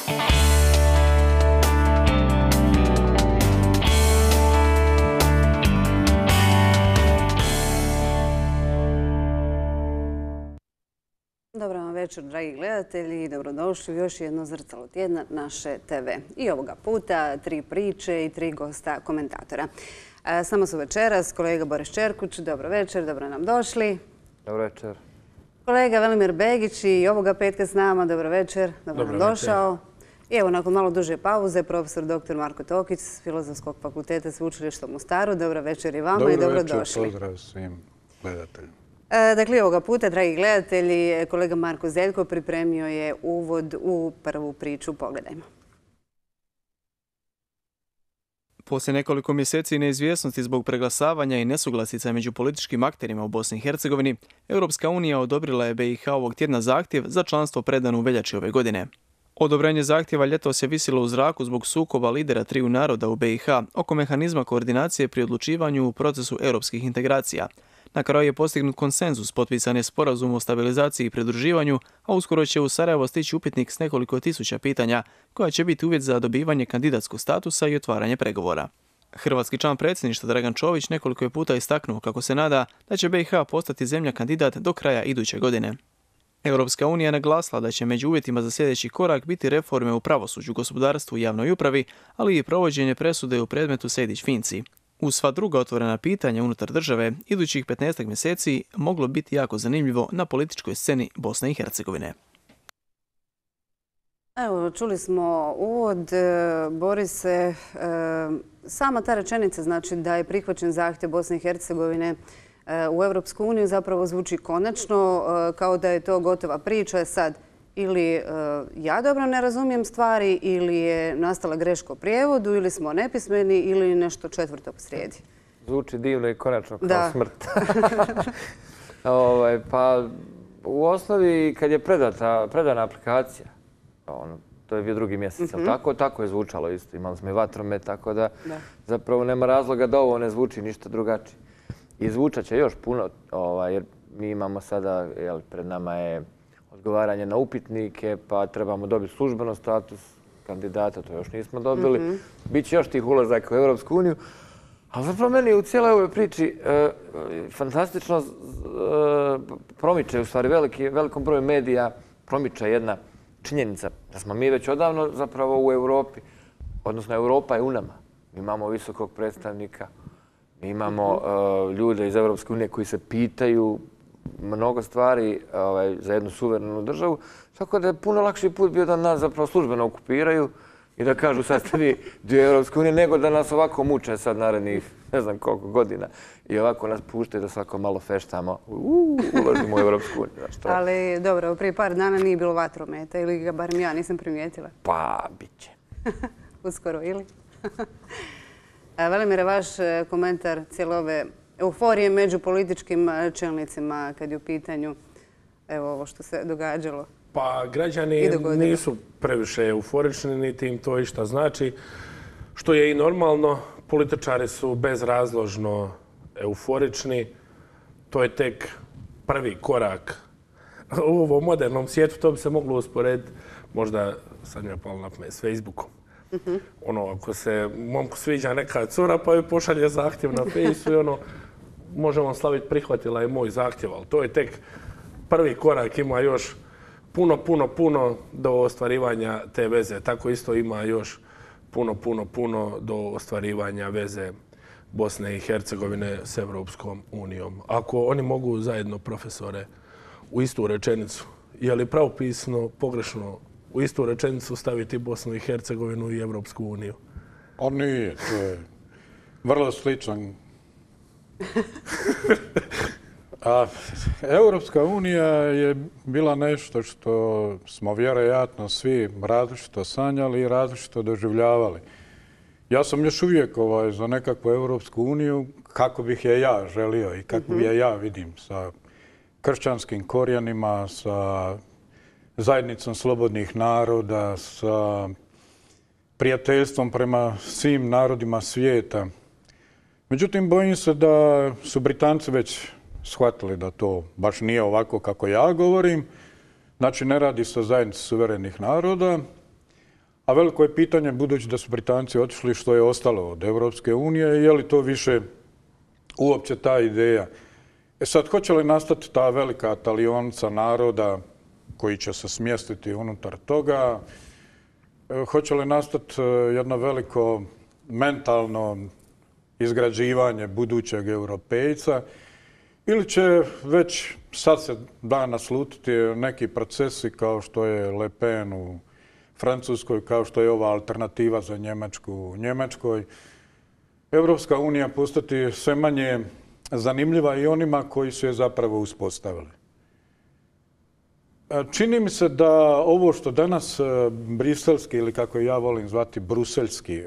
Dobar vam večer, dragi gledatelji, i dobrodošli u još jedno Zrcalo tjedna naše TV. I ovoga puta 3 priče i 3 gosta komentatora. Samo su večeras kolega Boris Čerkuć, dobro večer, dobro nam došli. Dobro večer. Kolega Velimir Begić i ovoga petka s nama, dobro večer, dobro nam došao. I evo, nakon malo duže pauze, profesor dr. Marko Tokić s Filozofskog fakulteta Sveučilišta u Mostaru. Dobro večer i vama i dobrodošli. Dobro večer, pozdrav svim gledateljima. Dakle, ovoga puta, dragi gledatelji, kolega Marko Zeljko pripremio je uvod u prvu priču. Pogledajmo. Poslije nekoliko mjeseci neizvjesnosti zbog preglasavanja i nesuglasica među političkim akterima u Bosni i Hercegovini, Europska unija odobrila je BiH ovog tjedna zahtjev za članstvo predan u veljači ove godine. Odobrenje zahtjeva ljetos je visilo u zraku zbog sukoba lidera triju naroda u BiH oko mehanizma koordinacije pri odlučivanju u procesu europskih integracija. Na kraju je postignut konsenzus, potpisan je sporazum o stabilizaciji i pridruživanju, a uskoro će u Sarajevo stići upitnik s nekoliko tisuća pitanja, koja će biti uvjet za dobivanje kandidatskog statusa i otvaranje pregovora. Hrvatski član predsjedništva Dragan Čović nekoliko je puta istaknuo kako se nada da će BiH postati zemlja kandidat do kraja iduće godine. Europska unija naglasila da će među uvjetima za sljedeći korak biti reforme u pravosuđu, gospodarstvu i javnoj upravi, ali i provođenje presude u predmetu Sejdić-Finci. Uz sva druga otvorena pitanja unutar države, idućih 15 mjeseci moglo biti jako zanimljivo na političkoj sceni Bosne i Hercegovine. Evo, čuli smo uvod, Borise, sama ta rečenica znači da je prihvaćen zahtjev Bosne i Hercegovine u Europsku uniju zapravo zvuči konačno, kao da je to gotova priča. Sad, ili ja dobro ne razumijem stvari, ili je nastala greška u prijevodu, ili smo nepismeni, ili nešto četvrto posrijedi. Zvuči divno i konačno kao smrt. Pa u osnovi kad je predana aplikacija, to je bio 2. mjesec, tako je zvučalo isto. Imali smo i vatromet, tako da zapravo nema razloga da ovo ne zvuči ništa drugačije. I zvučat će još puno, jer mi imamo sada, pred nama je odgovaranje na upitnike, pa trebamo dobiti službeno status kandidata, to još nismo dobili. Biće još tih ulazaka u Europsku uniju. Ali zapravo meni u cijeloj ovoj priči fantastično promiče, u stvari velikom broju medija promiče jedna činjenica da smo mi već odavno zapravo u Europi, odnosno Europa je u nama. Mi imamo visokog predstavnika, mi imamo ljude iz Europske unije koji se pitaju mnogo stvari za jednu suverenu državu, tako da je puno lakši put bio da nas zapravo službeno okupiraju i da kažu sad ste vi dio Europske unije, nego da nas ovako muče sad narednih ne znam koliko godina i ovako nas puštaju da svako malo feštamo, ulazimo u Europsku uniju. Ali dobro, prije par dana nije bilo vatrometa ili ga barem ja nisam primijetila. Pa, bit će. Uskoro, ili? Velimire, vaš komentar cijele ove euforije među političkim čelnicima kad je u pitanju ovo što se događalo? Pa građani nisu previše euforični, niti im to išta znači. Što je i normalno, političari su bezrazložno euforični. To je tek prvi korak u ovom modernom svijetu. To bi se moglo usporediti, možda sad mi je palo na pamet, s Facebookom. Ako se momku sviđa neka cura pa joj pošalje zahtjev na Fejsu i možemo slaviti, prihvatila je moj zahtjev, ali to je tek prvi korak, ima još puno do ostvarivanja te veze. Tako isto ima još puno do ostvarivanja veze Bosne i Hercegovine s Europskom unijom. Ako oni mogu zajedno, profesore, u istu rečenicu, je li pravopisno, pogrešno, u istu rečenicu staviti Bosnu i Hercegovinu i Europsku uniju? On nije, to je vrlo sličan. A Europska unija je bila nešto što smo vjerojatno svi različito sanjali i različito doživljavali. Ja sam još uvijek za nekakvu Europsku uniju kako bih je ja želio i kako je ja vidim, sa kršćanskim korijenima, sa zajednicom slobodnih naroda, sa prijateljstvom prema svim narodima svijeta. Međutim, bojim se da su Britanci već shvatili da to baš nije ovako kako ja govorim. Znači, ne radi se o zajednici suverenih naroda, A veliko je pitanje, budući da su Britanci otišli, što je ostalo od Europske unije, je li to više uopće ta ideja. Sad, hoće li nastati ta velika talionica naroda koji će se smjestiti unutar toga? Hoće li nastati jedno veliko mentalno izgrađivanje budućeg europejca? Ili će već sad se da naslutiti neki procesi kao što je Le Pen u Francuskoj, kao što je ova alternativa za Njemačku u Njemačkoj. Europska unija postati sve manje zanimljiva i onima koji su je zapravo uspostavili. Čini mi se da ovo što danas briselski, ili kako ja volim zvati bruselski,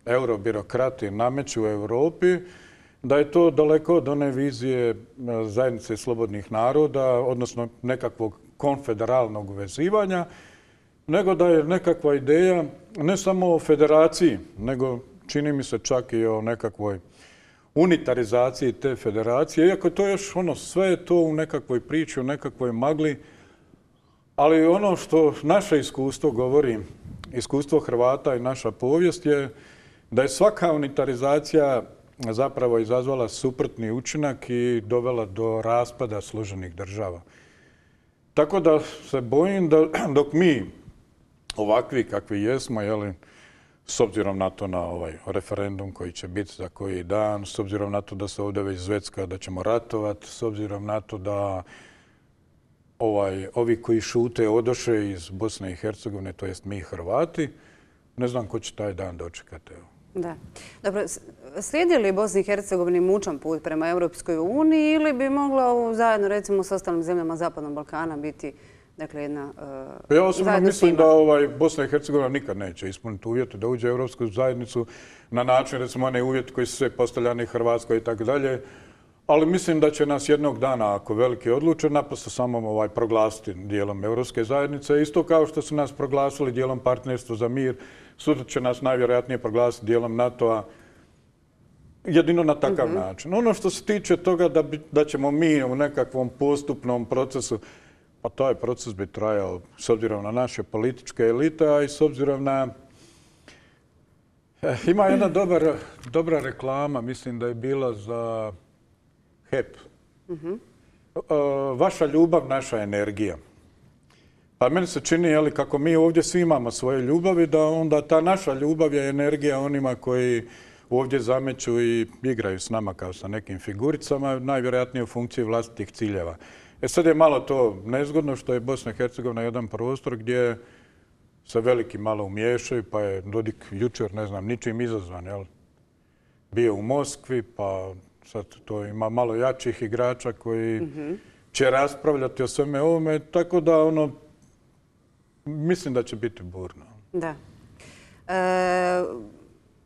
eurobirokrati nameću u Europi, da je to daleko od one vizije zajednice slobodnih naroda, odnosno nekakvog konfederalnog uvezivanja, nego da je nekakva ideja ne samo o federaciji, nego čini mi se čak i o nekakvoj unitarizaciji te federacije, iako to još sve je to u nekakvoj priči, u nekakvoj magli, ali ono što naše iskustvo govori, iskustvo Hrvata i naša povijest je da je svaka unitarizacija zapravo izazvala suprotni učinak i dovela do raspada složenih država. Tako da se bojim da dok mi ovakvi kakvi jesmo, s obzirom na to na ovaj referendum koji će biti za koji dan, s obzirom na to da se ovdje već zvecka da ćemo ratovati, s obzirom na to da ovi koji šute odoše iz Bosne i Hercegovine, to jest mi Hrvati, ne znam ko će taj dan dočekati. Da. Dobro, slijedi li Bosni i Hercegovini mučan put prema Europskoj uniji ili bi mogla zajedno, recimo, s ostalim zemljama Zapadnog Balkana biti, dakle, jedna ja osobno mislim da Bosna i Hercegovina nikad neće ispuniti uvjete da uđe u Europsku zajednicu na način, recimo, one uvjeti koji su sve postavljani Hrvatskoj i tako dalje. Ali mislim da će nas jednog dana, ako veliki odluče, naprosto samo proglasiti dijelom Europske zajednice. Isto kao što su nas proglasili dijelom Partnerstva za mir, sutra će nas najvjerojatnije proglasiti dijelom NATO-a. Jedino na takav način. Ono što se tiče toga da ćemo mi u nekakvom postupnom procesu, pa taj proces bi trajao s obzirom na naše političke elite, a i s obzirom na... Ima jedna dobra reklama, mislim da je bila za HEP. Vaša ljubav, naša energija. Pa meni se čini, kako mi ovdje svi imamo svoje ljubavi, da onda ta naša ljubav je energija onima koji ovdje zameću i igraju s nama kao sa nekim figuricama, najvjerojatnije u funkciji vlastitih ciljeva. Sad je malo to nezgodno što je Bosna i Hercegovina jedan prostor gdje se veliki malo umiješaju, pa je Dodik jučer, ne znam, ničim izazvan, bio u Moskvi, pa sad to ima malo jačih igrača koji će raspravljati o sveme ovome, tako da mislim da će biti burno. Da.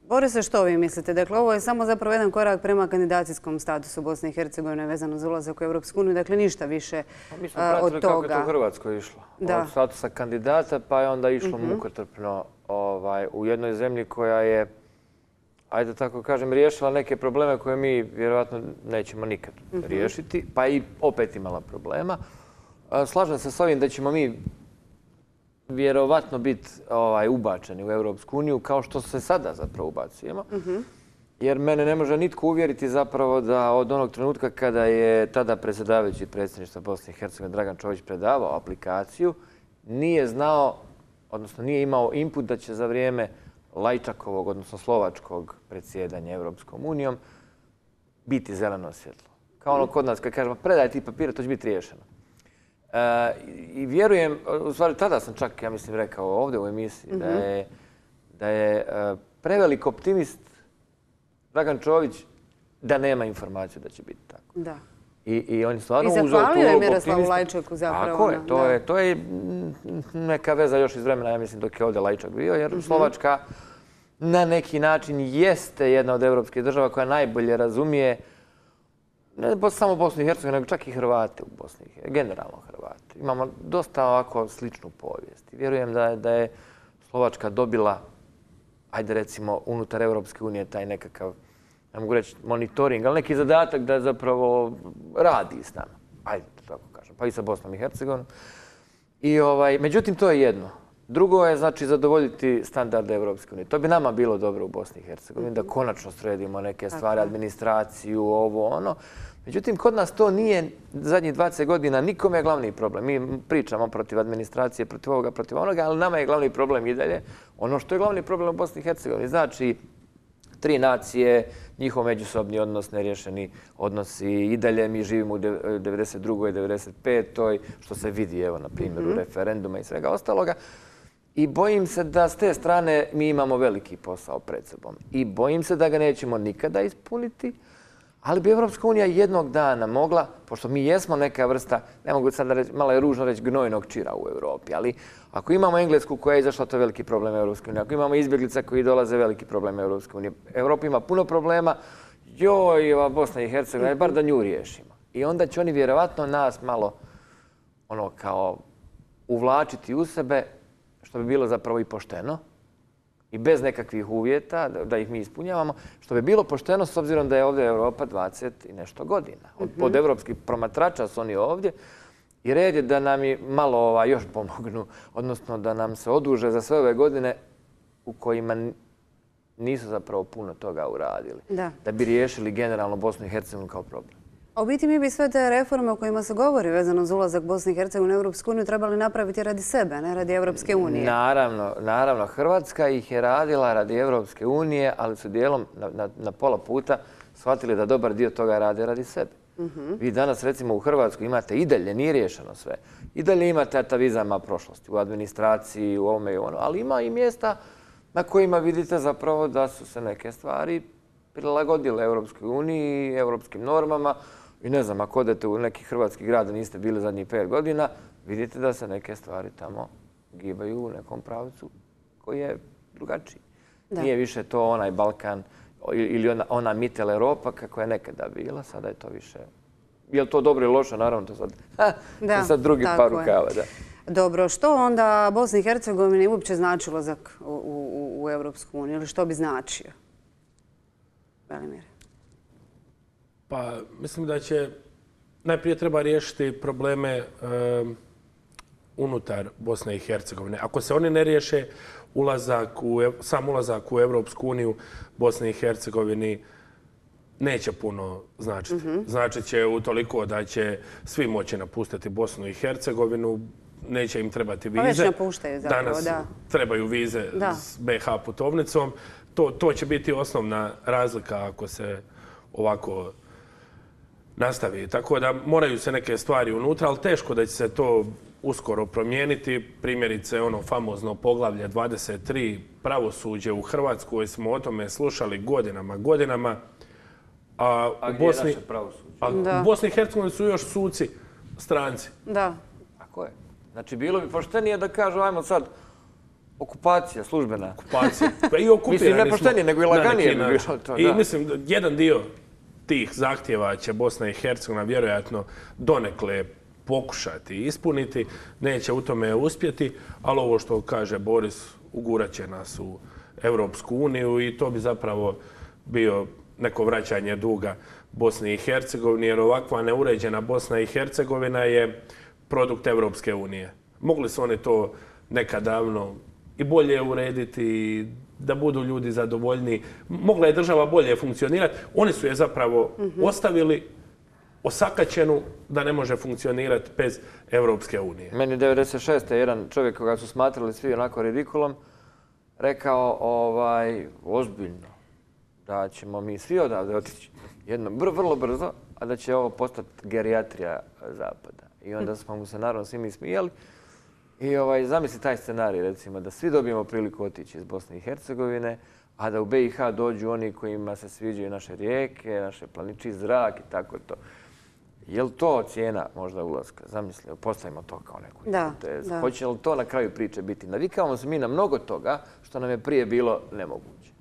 Borise, što vi mislite? Dakle, ovo je samo zapravo jedan korak prema kandidacijskom statusu Bosne i Hercegovine vezano za ulazak u Europsku uniju, dakle ništa više od toga. Mi smo pratili kako je to u Hrvatskoj išlo. Od statusa kandidata pa je onda išlo mukotrpno u jednoj zemlji koja je, ajde tako kažem, riješila neke probleme koje mi vjerojatno nećemo nikad riješiti, pa i opet imala problema. Slažem se s ovim da ćemo mi vjerovatno biti ubačeni u Europsku uniju kao što se sada zapravo ubacujemo. Jer mene ne može nitko uvjeriti zapravo da od onog trenutka kada je tada predsjedavajući predsjedništva Bosne i Hercegovine Dragan Čović predavao aplikaciju, nije znao, odnosno nije imao input da će za vrijeme Lajčakovog, odnosno slovačkog predsjedanja Europskom unijom biti zeleno svjetlo. Kao ono kod nas kad kažemo predaj ti papire, to će biti riješeno. I vjerujem, u stvari tada sam čak, ja mislim, rekao ovdje u emisiji da je prevelik optimist Dragan Čović da nema informaciju da će biti tako. Da. I on je stvarno uzeo tu zahvalio je Miroslavu Lajčaku zapravo. Tako je. To je neka veza još iz vremena, ja mislim, dok je ovdje Lajčak bio, jer Slovačka na neki način jeste jedna od evropskih država koja najbolje razumije ne samo Bosnu i Hercegovinu, nego čak i Hrvate u Bosni i Hercegovini, generalno Hrvate. Imamo dosta ovako sličnu povijest. Vjerujem da je Slovačka dobila, ajde recimo, unutar Europske unije taj nekakav, ne mogu reći monitoring, ali neki zadatak da zapravo radi s nama. Ajde, tako kažem, pa i sa Bosnom i Hercegovinom. Međutim, to je jedno. Drugo je, znači, zadovoljiti standarde Evropske unije. To bi nama bilo dobro u Bosni i Hercegovini, da konačno sredimo neke stvari, administraciju, ovo, ono. Međutim, kod nas to nije zadnjih 20 godina nikome je glavni problem. Mi pričamo protiv administracije, protiv ovoga, protiv onoga, ali nama je glavni problem i dalje. Ono što je glavni problem u Bosni i Hercegovini, znači 3 nacije, njihov međusobni odnos, nerješeni odnosi. I dalje mi živimo u 92. i 95. što se vidi, evo, na primjeru referenduma i svega ostaloga. I bojim se da s te strane mi imamo veliki posao pred sobom. I bojim se da ga nećemo nikada ispuniti, ali bi Evropska unija jednog dana mogla, pošto mi jesmo neka vrsta, ne mogu sad reći, malo je ružno reći, gnojnog čira u Evropi, ali ako imamo Englesku koja je izašla, to je veliki problem Evropske unije. Ako imamo izbjeglica koji dolaze, veliki problem Evropske unije. Evropa ima puno problema, joj, ova Bosna i Hercegovina, bar da nju riješimo. I onda će oni vjerovatno nas malo, ono, kao uvlačiti u sebe, što bi bilo zapravo i pošteno i bez nekakvih uvjeta da ih mi ispunjavamo, što bi bilo pošteno s obzirom da je ovdje Europa 20 i nešto godina. Od evropskih promatrača su oni ovdje i red je da nam i malo još pomognu, odnosno da nam se oduže za sve ove godine u kojima nisu zapravo puno toga uradili. Da bi riješili generalno Bosnu i Hercegovinu kao problem. A u biti mi bi sve te reforme o kojima se govori vezano za ulazak Bosne i Hercegovine u Europsku uniju trebali napraviti radi sebe, ne radi Europske unije. Naravno. Hrvatska ih je radila radi Europske unije, ali su dijelom na pola puta shvatili da dobar dio toga rade radi sebe. Vi danas recimo u Hrvatskoj imate i dalje, nije riješeno sve, i dalje imate atavizama prošlosti u administraciji, u ovome i ono, ali ima i mjesta na kojima vidite zapravo da su se neke stvari prilagodile Europskoj uniji i europskim normama. I ne znam, ako odete u neki hrvatski grad da niste bili zadnjih 5 godina, vidite da se neke stvari tamo gibaju u nekom pravcu koji je drugačiji. Nije više to onaj Balkan ili ona Mittel Europa kako je nekada bila, sada je to više... Je li to dobro ili loše? Naravno, to je sad drugi par rukava. Dobro, što onda Bosni i Hercegovini uopće znači ulazak u Europsku uniju ili što bi značio? Velimir. Pa, mislim da će najprije treba riješiti probleme unutar Bosne i Hercegovine. Ako se oni ne riješe, sam ulazak u Europsku uniju Bosne i Hercegovini neće puno značiti. Značit će utoliko da će svi moći napustiti Bosnu i Hercegovinu, neće im trebati vize. Pa već napuštaju zapravo, da. Danas trebaju vize s BiH putovnicom. To će biti osnovna razlika ako se ovako nastavi. Tako da moraju se neke stvari unutra, ali teško da će se to uskoro promijeniti. Primjerice, ono famozno poglavlje 23, pravosuđe u Hrvatskoj, smo o tome slušali godinama. A gdje je naše pravosuđe? U Bosni i Hercegovini su još suci stranci. Da. Tako je. Znači, bilo bi poštenije da kažu, ajmo sad, okupacija službena. Okupacija. Pa i okupirani smo. Mislim, ne poštenije, nego i laganije bi bilo to. I mislim, jedan dio tih zahtjeva će Bosna i Hercegovina vjerojatno donekle pokušati ispuniti. Neće u tome uspjeti, ali ovo što kaže Boris, ugurat će nas u Europsku uniju i to bi zapravo bio neko vraćanje duga Bosni i Hercegovini, jer ovakva neuređena Bosna i Hercegovina je produkt Europske unije. Mogli su oni to nekad davno i bolje urediti, da budu ljudi zadovoljni. Mogla je država bolje funkcionirati. Oni su je zapravo ostavili osakaćenu da ne može funkcionirati bez Europske unije. Meni 96. jedan čovjek koga su smatrali svi onako ridikulom rekao ozbiljno da ćemo mi svi odavde otići vrlo brzo, a da će ovo postati gerijatrija Zapada. I onda smo mu se naravno svi mi smijali. I zamisli taj scenarij, recimo, da svi dobijemo priliku otići iz Bosne i Hercegovine, a da u BiH dođu oni kojima se sviđaju naše rijeke, naše planiči, zrak i tako to. Je li to cijena možda ulaska? Zamislimo, postavimo to kao neku hipotezu. Hoće li to na kraju priče biti? Navikavamo se mi na mnogo toga što nam je prije bilo nemoguće.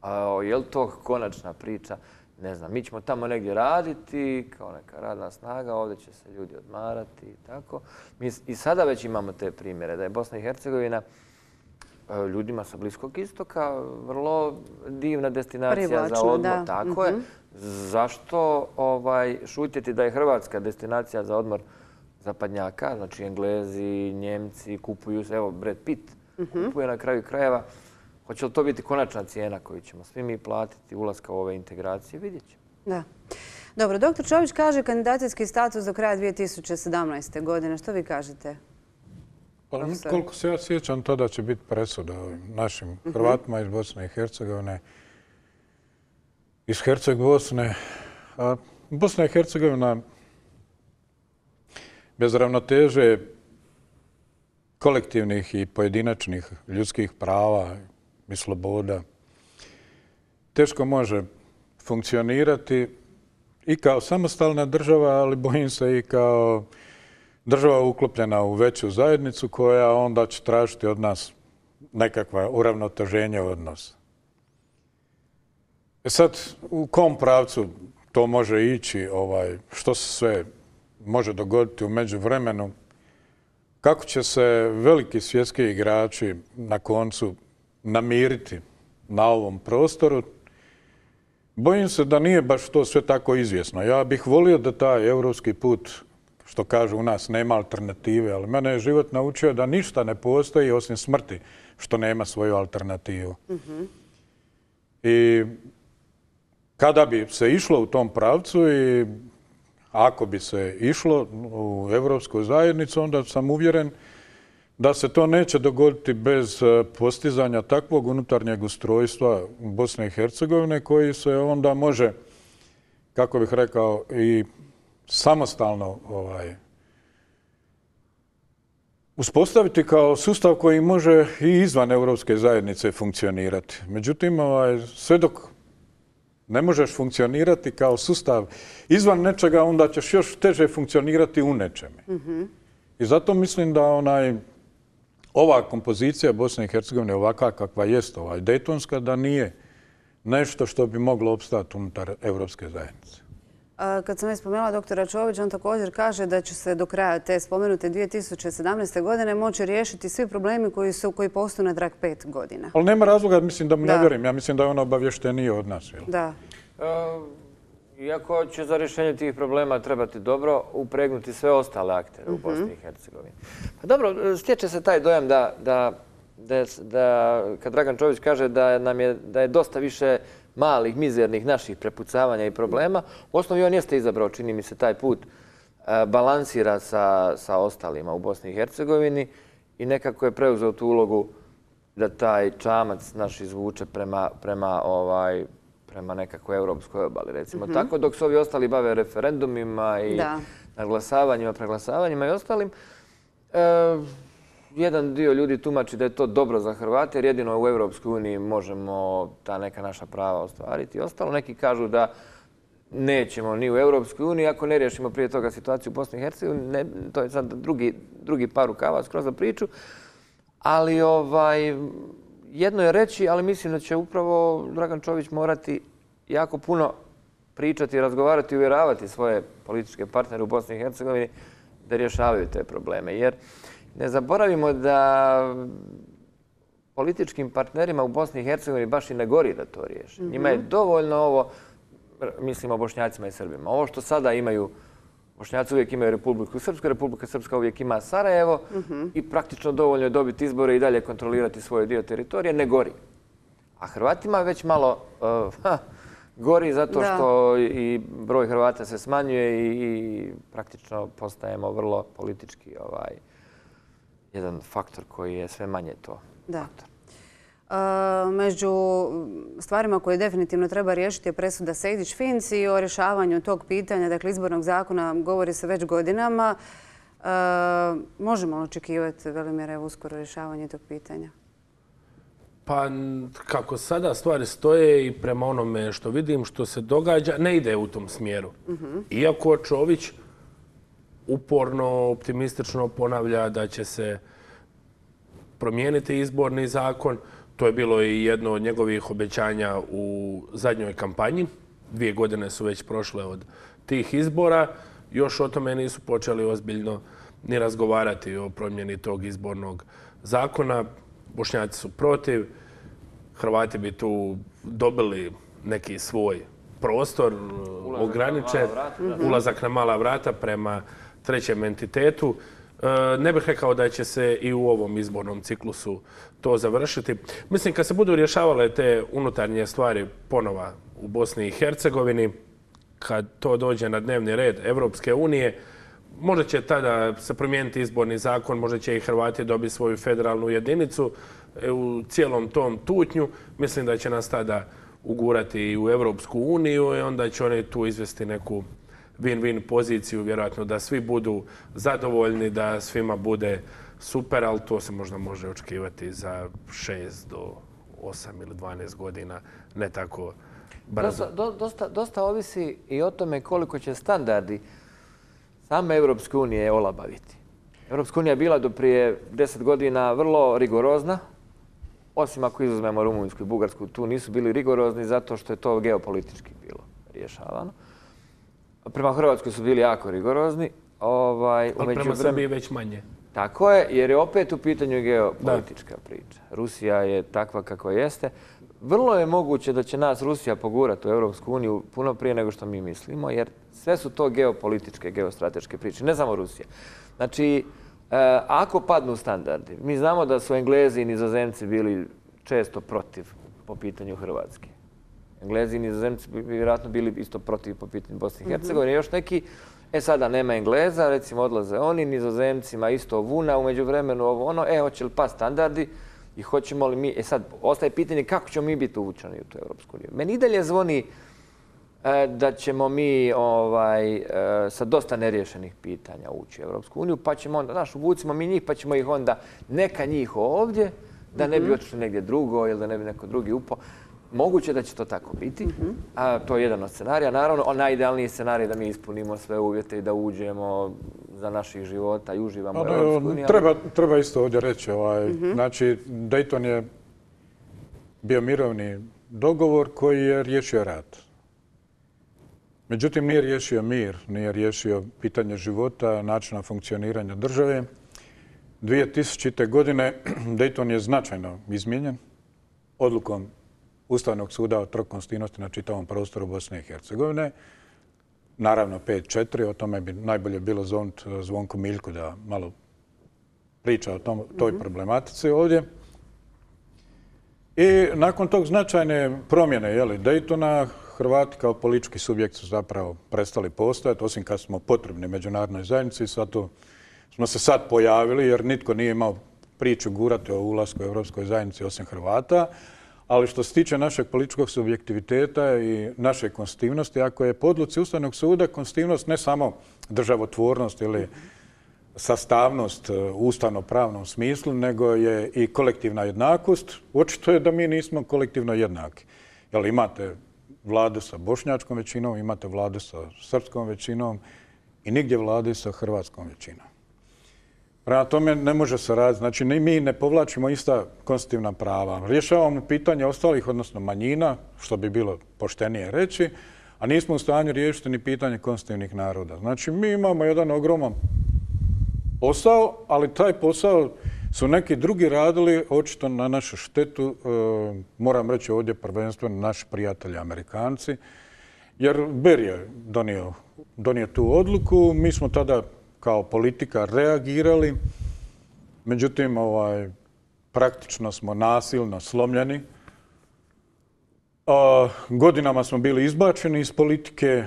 A je li to konačna priča? Ne znam, mi ćemo tamo negdje raditi, kao neka radna snaga, ovdje će se ljudi odmarati i tako. Mi i sada već imamo te primjere da je Bosna i Hercegovina ljudima sa Bliskog istoka vrlo divna destinacija za odmor. Tako je. Zašto šutjeti da je Hrvatska destinacija za odmor zapadnjaka? Znači, Englezi, Njemci kupuju se, evo, Brad Pitt kupuje na kraju krajeva. Hoće li to biti konačna cijena koju ćemo svi mi platiti ulaska u ove integracije? Vidjet ćemo. Da. Dobro, dr. Čović kaže kandidacijski status do kraja 2017. godine. Što vi kažete? Koliko se ja sjećam, tada će biti presuda našim Hrvatima iz Bosne i Hercegovine, iz Herceg-Bosne. A Bosna i Hercegovina bez ravnoteže kolektivnih i pojedinačnih ljudskih prava i sloboda teško može funkcionirati i kao samostalna država, ali bojim se i kao država uklopljena u veću zajednicu koja onda će tražiti od nas nekakva uravnoteženja odnosa. Sad, u kom pravcu to može ići, što se sve može dogoditi u međuvremenu, kako će se veliki svjetski igrači na koncu namiriti na ovom prostoru, bojim se da nije baš to sve tako izvjesno. Ja bih volio da taj europski put, što kažu u nas, nema alternative, ali mene je život naučio da ništa ne postoji osim smrti što nema svoju alternativu. I kada bi se išlo u tom pravcu i ako bi se išlo u Europsku zajednicu, onda sam uvjeren da se to neće dogoditi bez postizanja takvog unutarnjeg ustrojstva Bosne i Hercegovine koji se onda može, kako bih rekao, i samostalno uspostaviti kao sustav koji može i izvan Europske zajednice funkcionirati. Međutim, sve dok ne možeš funkcionirati kao sustav izvan nečega, onda ćeš još teže funkcionirati u nečeme. I zato mislim da ova kompozicija Bosne i Hercegovine, ovakva kakva jest, dejtonska, da nije nešto što bi moglo opstati unutar Europske zajednice. Kad sam već spomenula doktora Čovića, on također kaže da će se do kraja te spomenute 2017. godine moći riješiti svi problemi koji postoje natrag 5 godina. Ali nema razloga, mislim da mu ne vjerujem. Ja mislim da je on obavješteniji od nas. Da. Iako će za rješenje tih problema trebati dobro upregnuti sve ostale aktere u Bosni i Hercegovini. Pa dobro, stječe se taj dojam da kad Dragan Čović kaže da je dosta više malih, mizernih naših prepucavanja i problema, u osnovi on jeste izabrao, čini mi se, taj put balansira sa ostalima u Bosni i Hercegovini i nekako je preuzeo tu ulogu da taj čamac naš izvuče prema nekakvoj europskoj obali, recimo tako, dok se ovi ostali bave referendumima i naglasavanjima, preglasavanjima i ostalim. Jedan dio ljudi tumači da je to dobro za Hrvate, jer jedino u Europskoj uniji možemo ta neka naša prava ostvariti i ostalo. Neki kažu da nećemo ni u Europskoj uniji ako ne riješimo prije toga situaciju u Bosni i Hercegovini. To je sad drugi par rukava skroz za priču. Ali jedno je reći, ali mislim da će upravo Dragan Čović morati jako puno pričati, razgovarati i uvjeravati svoje političke partnere u Bosni i Hercegovini da rješavaju te probleme. Jer ne zaboravimo da političkim partnerima u Bosni i Hercegovini baš i ne gori da to riješe. Njima je dovoljno ovo, mislim o Bošnjacima i Srbima, ovo što sada imaju, Bošnjaci uvijek imaju Republiku Srpsku, Republika Srpska uvijek ima Sarajevo i praktično dovoljno je dobiti izbore i dalje kontrolirati svoj dio teritorije, ne gori. A Hrvatima već malo gori zato što i broj Hrvata se smanjuje i praktično postajemo vrlo politički jedan faktor koji je sve manje to faktor. Među stvarima koje definitivno treba riješiti je presuda Sejdić-Finci i o rješavanju tog pitanja, dakle izbornog zakona, govori se već godinama. Možemo očekivati, Velimir, uskoro rješavanje tog pitanja? Pa kako sada stvari stoje i prema onome što vidim, što se događa, ne ide u tom smjeru. Iako Čović uporno, optimistično ponavlja da će se promijeniti izborni zakon. To je bilo i jedno od njegovih obećanja u zadnjoj kampanji. 2 godine su već prošle od tih izbora. Još o tome nisu počeli ozbiljno ni razgovarati o promjeni tog izbornog zakona. Bošnjaci su protiv. Hrvati bi tu dobili neki svoj prostor ograničen, ulazak na mala vrata prema trećem entitetu. Ne bih rekao da će se i u ovom izbornom ciklusu to završiti. Mislim, kad se budu rješavale te unutarnje stvari ponova u Bosni i Hercegovini, kad to dođe na dnevni red Evropske unije, možda će tada se promijeniti izborni zakon, možda će i Hrvati dobiti svoju federalnu jedinicu u cijelom tom tutnju. Mislim da će nas tada ugurati i u Evropsku uniju i onda će oni tu izvesti neku win-win poziciju, vjerojatno da svi budu zadovoljni, da svima bude super, ali to se možda može očekivati za 6 do 8 ili 12 godina, ne tako brzo. Dosta ovisi i o tome koliko će standardi same Europske unije olabaviti. Europska unija je bila do prije 10 godina vrlo rigorozna, osim ako izuzmemo Rumunjsku i Bugarsku, tu nisu bili rigorozni zato što je to geopolitički bilo rješavano. Prema Hrvatskoj su bili jako rigorozni. Ali prema Srbiji već manje. Tako je, jer je opet u pitanju geopolitička priča. Rusija je takva kako jeste. Vrlo je moguće da će nas Rusija pogurati u Europsku uniju puno prije nego što mi mislimo, jer sve su to geopolitičke, geostrateške priče, ne samo Rusija. Znači, ako padnu standardi, mi znamo da su Englezi i Nizozemci bili često protiv po pitanju Hrvatske. Englezi i Nizozemci bi vjerojatno bili isto protiv po pitanju Bosne i Hercegovine. Još neki, sada nema Engleza, recimo odlaze oni, Nizozemcima isto vuna, umeđu vremenu ovo ono, hoće li pa standardi i hoćemo li mi, sad ostaje pitanje kako ćemo mi biti uvučeni u tu Europsku uniju. Meni i dalje zvoni da ćemo mi sa dosta neriješenih pitanja ući u Europsku uniju, pa ćemo onda, uvucimo mi njih, pa ćemo ih onda neka njih ovdje, da ne bi otišli negdje drugo ili da ne bi neko drugi upao. Moguće da će to tako biti, a to je jedan od scenarija. Naravno, najidealniji scenarij je da mi ispunimo sve uvjete i da uđemo za naših života i uživamo u Europskoj uniji. Treba isto ovdje reći. Znači, Dayton je bio mirovni dogovor koji je riješio rat. Međutim, nije riješio mir, nije riješio pitanje života, načina funkcioniranja države. 2000. godine Dayton je značajno izmijenjen odlukom Ustavnog suda o trokonstitutivnosti na čitavom prostoru Bosne i Hercegovine. Naravno 5-4, o tome bi najbolje bilo zvoniti Zvonku Miljku da malo priča o toj problematici ovdje. I nakon tog značajne promjene Daytona, Hrvati kao politički subjekt su zapravo prestali postojati, osim kad smo potrebni međunarodnoj zajednici. Zato smo se sad pojavili jer nitko nije imao priču gurati o ulasku u Europskoj zajednici osim Hrvata. Ali što se tiče našeg političkog subjektiviteta i naše konstitutivnosti, ako je po odluci Ustavnog suda konstitutivnost ne samo državotvornost ili sastavnost u ustavno-pravnom smislu, nego je i kolektivna jednakost, očito je da mi nismo kolektivno jednaki. Jer imate vladu sa bošnjačkom većinom, imate vladu sa srpskom većinom i nigdje vlade sa hrvatskom većinom. Prema tome ne može se raditi. Znači, mi ne povlačimo ista konstitutivna prava. Rješavamo pitanje ostalih, odnosno manjina, što bi bilo poštenije reći, a nismo u stanju riješiti ni pitanje konstitutivnih naroda. Znači, mi imamo jedan ogroman posao, ali taj posao su neki drugi radili, očito na našu štetu, moram reći ovdje prvenstveno naši prijatelji Amerikanci, jer Ber je donio tu odluku, mi smo tada kao politika reagirali, međutim praktično smo nasilno slomljeni. Godinama smo bili izbačeni iz politike,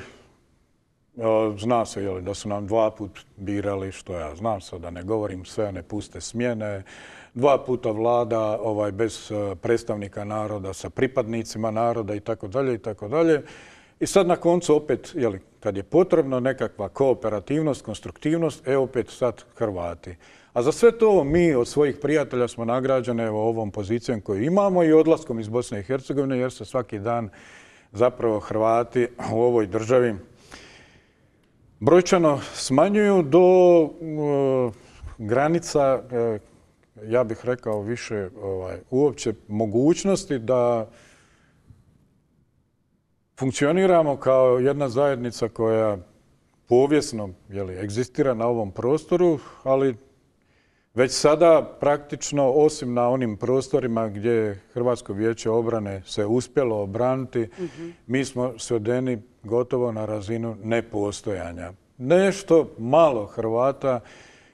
zna se da su nam 2 puta birali, što ja znam sad da ne govorim, sve one puste smjene, 2 puta vlada bez predstavnika naroda sa pripadnicima naroda itd. I sad na koncu opet, kad je potrebno nekakva kooperativnost, konstruktivnost, opet sad Hrvati. A za sve to mi od svojih prijatelja smo nagrađeni ovom pozicijom koju imamo i odlaskom iz Bosne i Hercegovine, jer se svaki dan zapravo Hrvati u ovoj državi brojčano smanjuju do granica, ja bih rekao više uopće mogućnosti da funkcioniramo kao jedna zajednica koja povijesno egzistira na ovom prostoru, ali već sada praktično, osim na onim prostorima gdje je Hrvatsko vijeće obrane se uspjelo obraniti, mi smo svedeni gotovo na razinu nepostojanja. Nešto malo Hrvata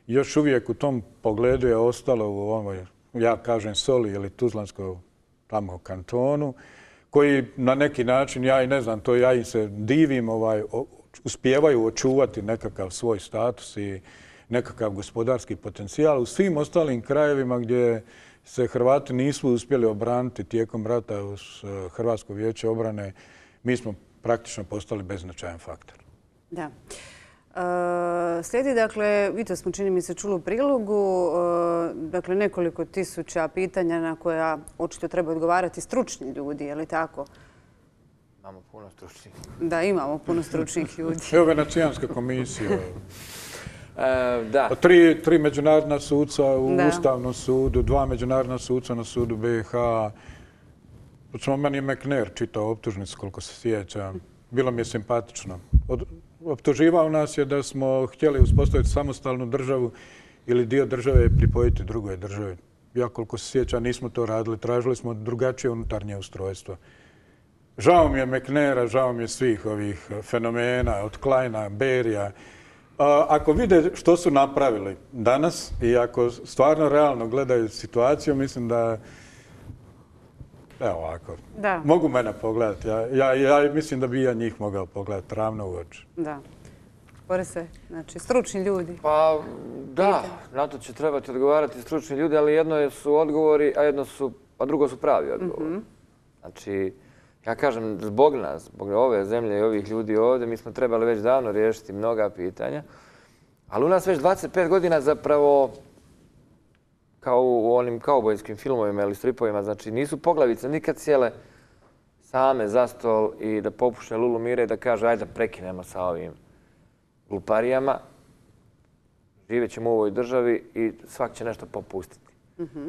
još uvijek u tom pogledu je ostalo u ovoj, ja kažem, Soli ili Tuzlanskom tamo kantonu, koji na neki način, ja i ne znam, to ja im se divim, uspijevaju očuvati nekakav svoj status i nekakav gospodarski potencijal. U svim ostalim krajevima gdje se Hrvati nisu uspjeli obraniti tijekom rata uz Hrvatsko vijeće obrane, mi smo praktično postali beznačajan faktor. Da. Slijedi, dakle, i to smo čini mi se čuli u prilogu, dakle nekoliko tisuća pitanja na koja očito treba odgovarati stručni ljudi, je li tako? Imamo puno stručnih. Da, imamo puno stručnih ljudi. Evo Venecijanska komisija. Da. Tri međunarodna suca u Ustavnom sudu, 2 međunarodna suca na sudu BiH. Meni je McNair čitao optužnicu, koliko se sjećam. Bilo mi je simpatično. Optuživao nas je da smo htjeli uspostaviti samostalnu državu ili dio države pripojiti drugoj državi. Ja, koliko se sjećam, nismo to radili. Tražili smo drugačije unutarnje ustrojstvo. Žao mi je McNaira, žao mi je svih ovih fenomena, od Kleina, Berija. Ako vide što su napravili danas i ako stvarno realno gledaju situaciju, mislim da, evo ovako, mogu mene pogledati. Ja mislim da bi ja njih mogao pogledati ravno u oči. Da. Borise, znači stručni ljudi. Pa da, na to će trebati odgovarati stručni ljudi, ali jedno su odgovori, a drugo su pravi odgovori. Znači, ja kažem, zbog nas, zbog ove zemlje i ovih ljudi ovdje, mi smo trebali već davno riješiti mnoga pitanja, ali u nas već 25 godina zapravo, kao u onim kaubojskim filmovima ili stripovima, znači nisu poglavice nikad sjele same za stol i da popuše lulu mire i da kaže ajde da prekinemo sa ovim gluparijama, živjet ćemo u ovoj državi i svak će nešto popustiti.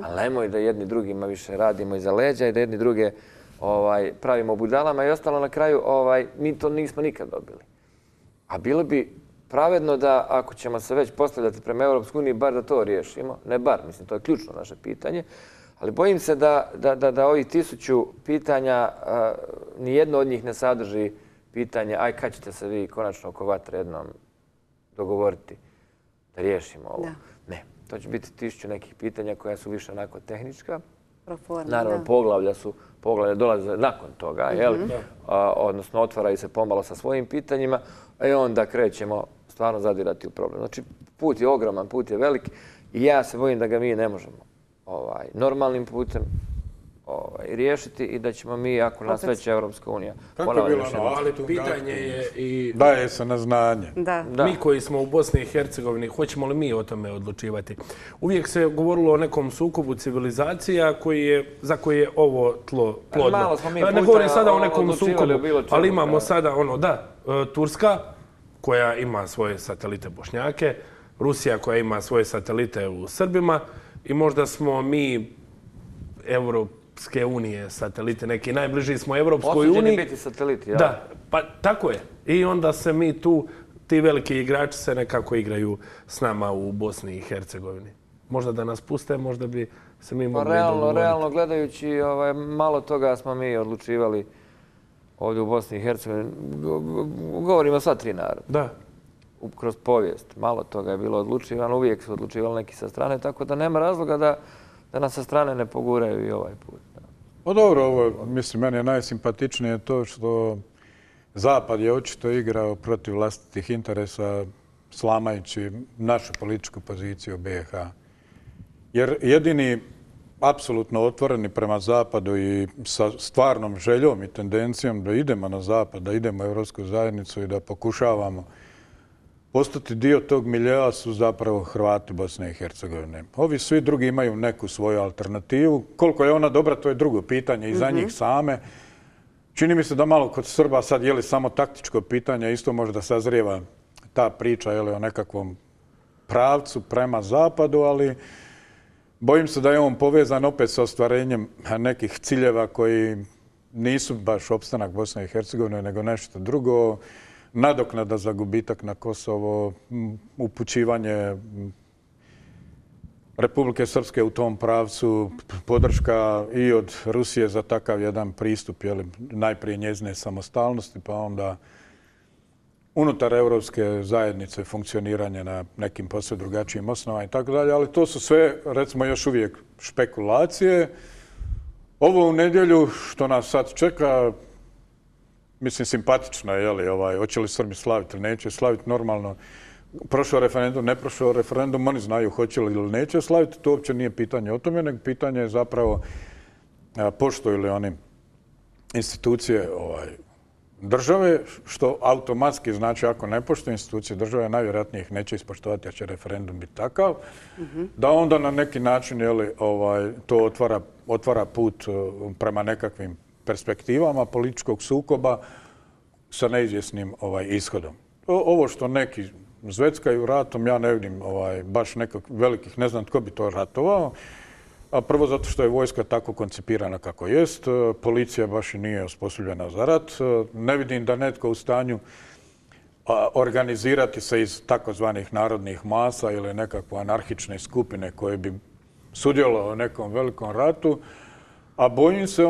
Ali nemoj da jedni drugima više radimo iza leđa i da jedni druge pravimo budalama i ostalo na kraju, mi to nismo nikad dobili. A bilo bi pravedno da ako ćemo se već postavljati prema Europskoj uniji, bar da to riješimo. Ne bar, mislim, to je ključno naše pitanje. Ali bojim se da ovih 1000 pitanja, nijedno od njih ne sadrži pitanje aj kad ćete se vi konačno oko vatre jednom dogovoriti da riješimo ovo. Ne, to će biti 1000 nekih pitanja koja su više onako tehnička. Naravno, poglavlja dolaze nakon toga, odnosno otvaraju se pomalo sa svojim pitanjima, a onda krećemo stvarno zadirati u problem. Znači, put je ogroman, put je velik i ja se bojim da ga mi ne možemo normalnim putem riješiti i da ćemo mi, ako nas već Europska unija... Kako je bilo ali pitanje je i... Daje se na znanje. Mi koji smo u Bosni i Hercegovini, hoćemo li mi o tome odlučivati? Uvijek se govorilo o nekom sukobu civilizacija za koje je ovo tlo plodno. Ne govorim sada o nekom sukobu, ali imamo sada Turska koja ima svoje satelite Bošnjake, Rusija koja ima svoje satelite u Srbima i možda smo mi Europske unije satelite, neki najbliži smo Europskoj uniji. Osuđeni biti sateliti, ja? Da, pa tako je. I onda se mi tu, ti veliki igrači se nekako igraju s nama u Bosni i Hercegovini. Možda da nas puste, možda bi se mi mogli dogovoriti. Realno gledajući, malo toga smo mi odlučivali ovdje u Bosni i Hercegovini. Govorimo sva 3 naroda. Da. Kroz povijest. Malo toga je bilo odlučivano, uvijek su odlučivali neki sa strane, tako da nema razloga da nas sa strane ne poguraju i ovaj put. Pa dobro, ovo, mislim, meni je najsimpatičnije to što Zapad je očito igrao protiv vlastitih interesa, slamajući našu političku poziciju BiH. Jer jedini apsolutno otvoreni prema Zapadu i sa stvarnom željom i tendencijom da idemo na Zapad, da idemo u Europsku zajednicu i da pokušavamo postati dio tog miljea su zapravo Hrvati Bosne i Hercegovine. Ovi svi drugi imaju neku svoju alternativu. Koliko je ona dobra, to je drugo pitanje i za njih same. Čini mi se da malo kod Srba sad je li samo taktičko pitanje, isto možda sazrijeva ta priča o nekakvom pravcu prema Zapadu, ali bojim se da je on povezan opet sa ostvarenjem nekih ciljeva koji nisu baš opstanak Bosne i Hercegovine, nego nešto drugo. Nadoknada za gubitak na Kosovo, upućivanje Republike Srpske u tom pravcu, podrška i od Rusije za takav jedan pristup, najprije njezine samostalnosti, pa onda unutar europske zajednice funkcioniranje na nekim posve drugačijim osnovama i tako dalje, ali to su sve, recimo, još uvijek špekulacije. Ovo u nedjelju što nas sad čeka, mislim, simpatično je, hoće li Srbi slaviti ili neće slaviti, normalno. Prošao referendum, ne prošao referendum, oni znaju hoće li ili neće slaviti, to uopće nije pitanje o tome, nego pitanje je zapravo poštuju li oni institucije države, što automatski znači ako ne poštuju institucije države, najvjerojatnije ih neće ispoštovati, jer će referendum biti takav, da onda na neki način to otvara put prema nekakvim perspektivama političkog sukoba sa neizvjesnim ishodom. Ovo što neki zveckaju ratom, ja ne vidim baš nekakvih velikih, ne znam tko bi to ratovao. A prvo zato što je vojska tako koncipirana kako jest, policija baš i nije osposobljena za rat. Ne vidim da netko u stanju organizirati se iz takozvanih narodnih masa ili nekakve anarhične skupine koje bi sudjelovale u nekom velikom ratu. A bojim se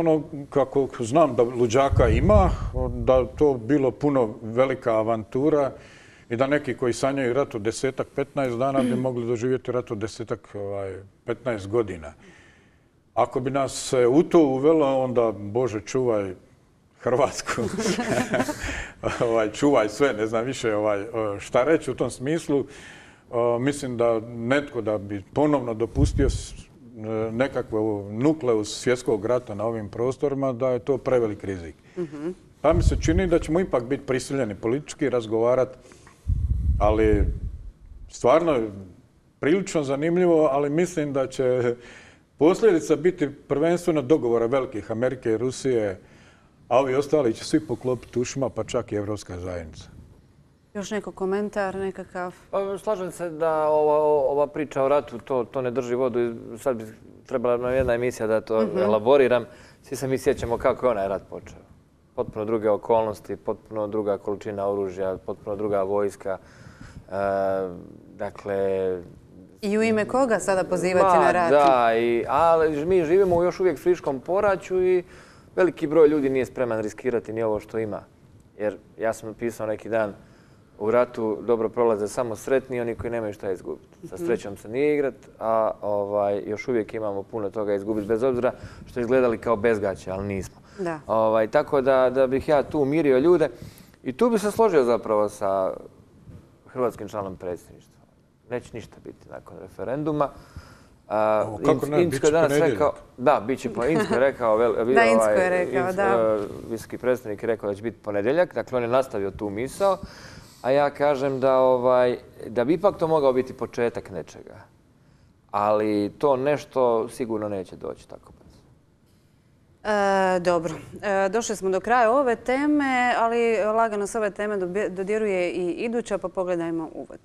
kako znam da luđaka ima, da to bilo puno velika avantura i da neki koji sanjaju rat od 10-15 dana bi mogli doživjeti rat od 10-15 godina. Ako bi nas se u to uvelo, onda, Bože, čuvaj Hrvatsku, čuvaj sve, ne znam više šta reći u tom smislu. Mislim da netko da bi ponovno dopustio nekakvu nukleus svjetskog rata na ovim prostorima, da je to prevelik rizik. Pa mi se čini da ćemo ipak biti prisiljeni politički razgovarati, ali stvarno je prilično zanimljivo, ali mislim da će posljedica biti prvenstveno dogovora velikih Amerike i Rusije, a ovi ostali će svi poklopiti ušima, pa čak i Evropska zajednica. Još neko komentar, nekakav? Slažem se da ova priča o ratu, to ne drži vodu. Sad bi trebala nam jedna emisija da to elaboriram. Svi se mi sjećamo kako je onaj rat počeo. Potpuno druge okolnosti, potpuno druga količina oružja, potpuno druga vojska. Dakle... I u ime koga sada pozivati na rat? Da, ali mi živimo u još uvijek friškom poraću i veliki broj ljudi nije spreman riskirati ni ovo što ima. Jer ja sam napisao neki dan, u ratu dobro prolaze samo sretni, oni koji nemaju šta izgubiti. Sa srećom se nije igrat, a još uvijek imamo puno toga izgubiti, bez obzira što izgledali kao bezgaće, ali nismo. Tako da bih ja tu umirio ljude i tu bi se složio zapravo sa hrvatskim članom predsjedništva. Neće ništa biti nakon referenduma. Kako ne? Biće ponedjeljak. Da, biće ponedjeljak. Inzko je rekao, visoki predstavnik je rekao da će biti ponedjeljak. Dakle, on je nastavio tu misao. A ja kažem da bi ipak to mogao biti početak nečega. Ali to nešto sigurno neće doći tako brzo. Dobro. Došli smo do kraja ove teme, ali lagano s ove teme dodiruje i iduća, pa pogledajmo uvod.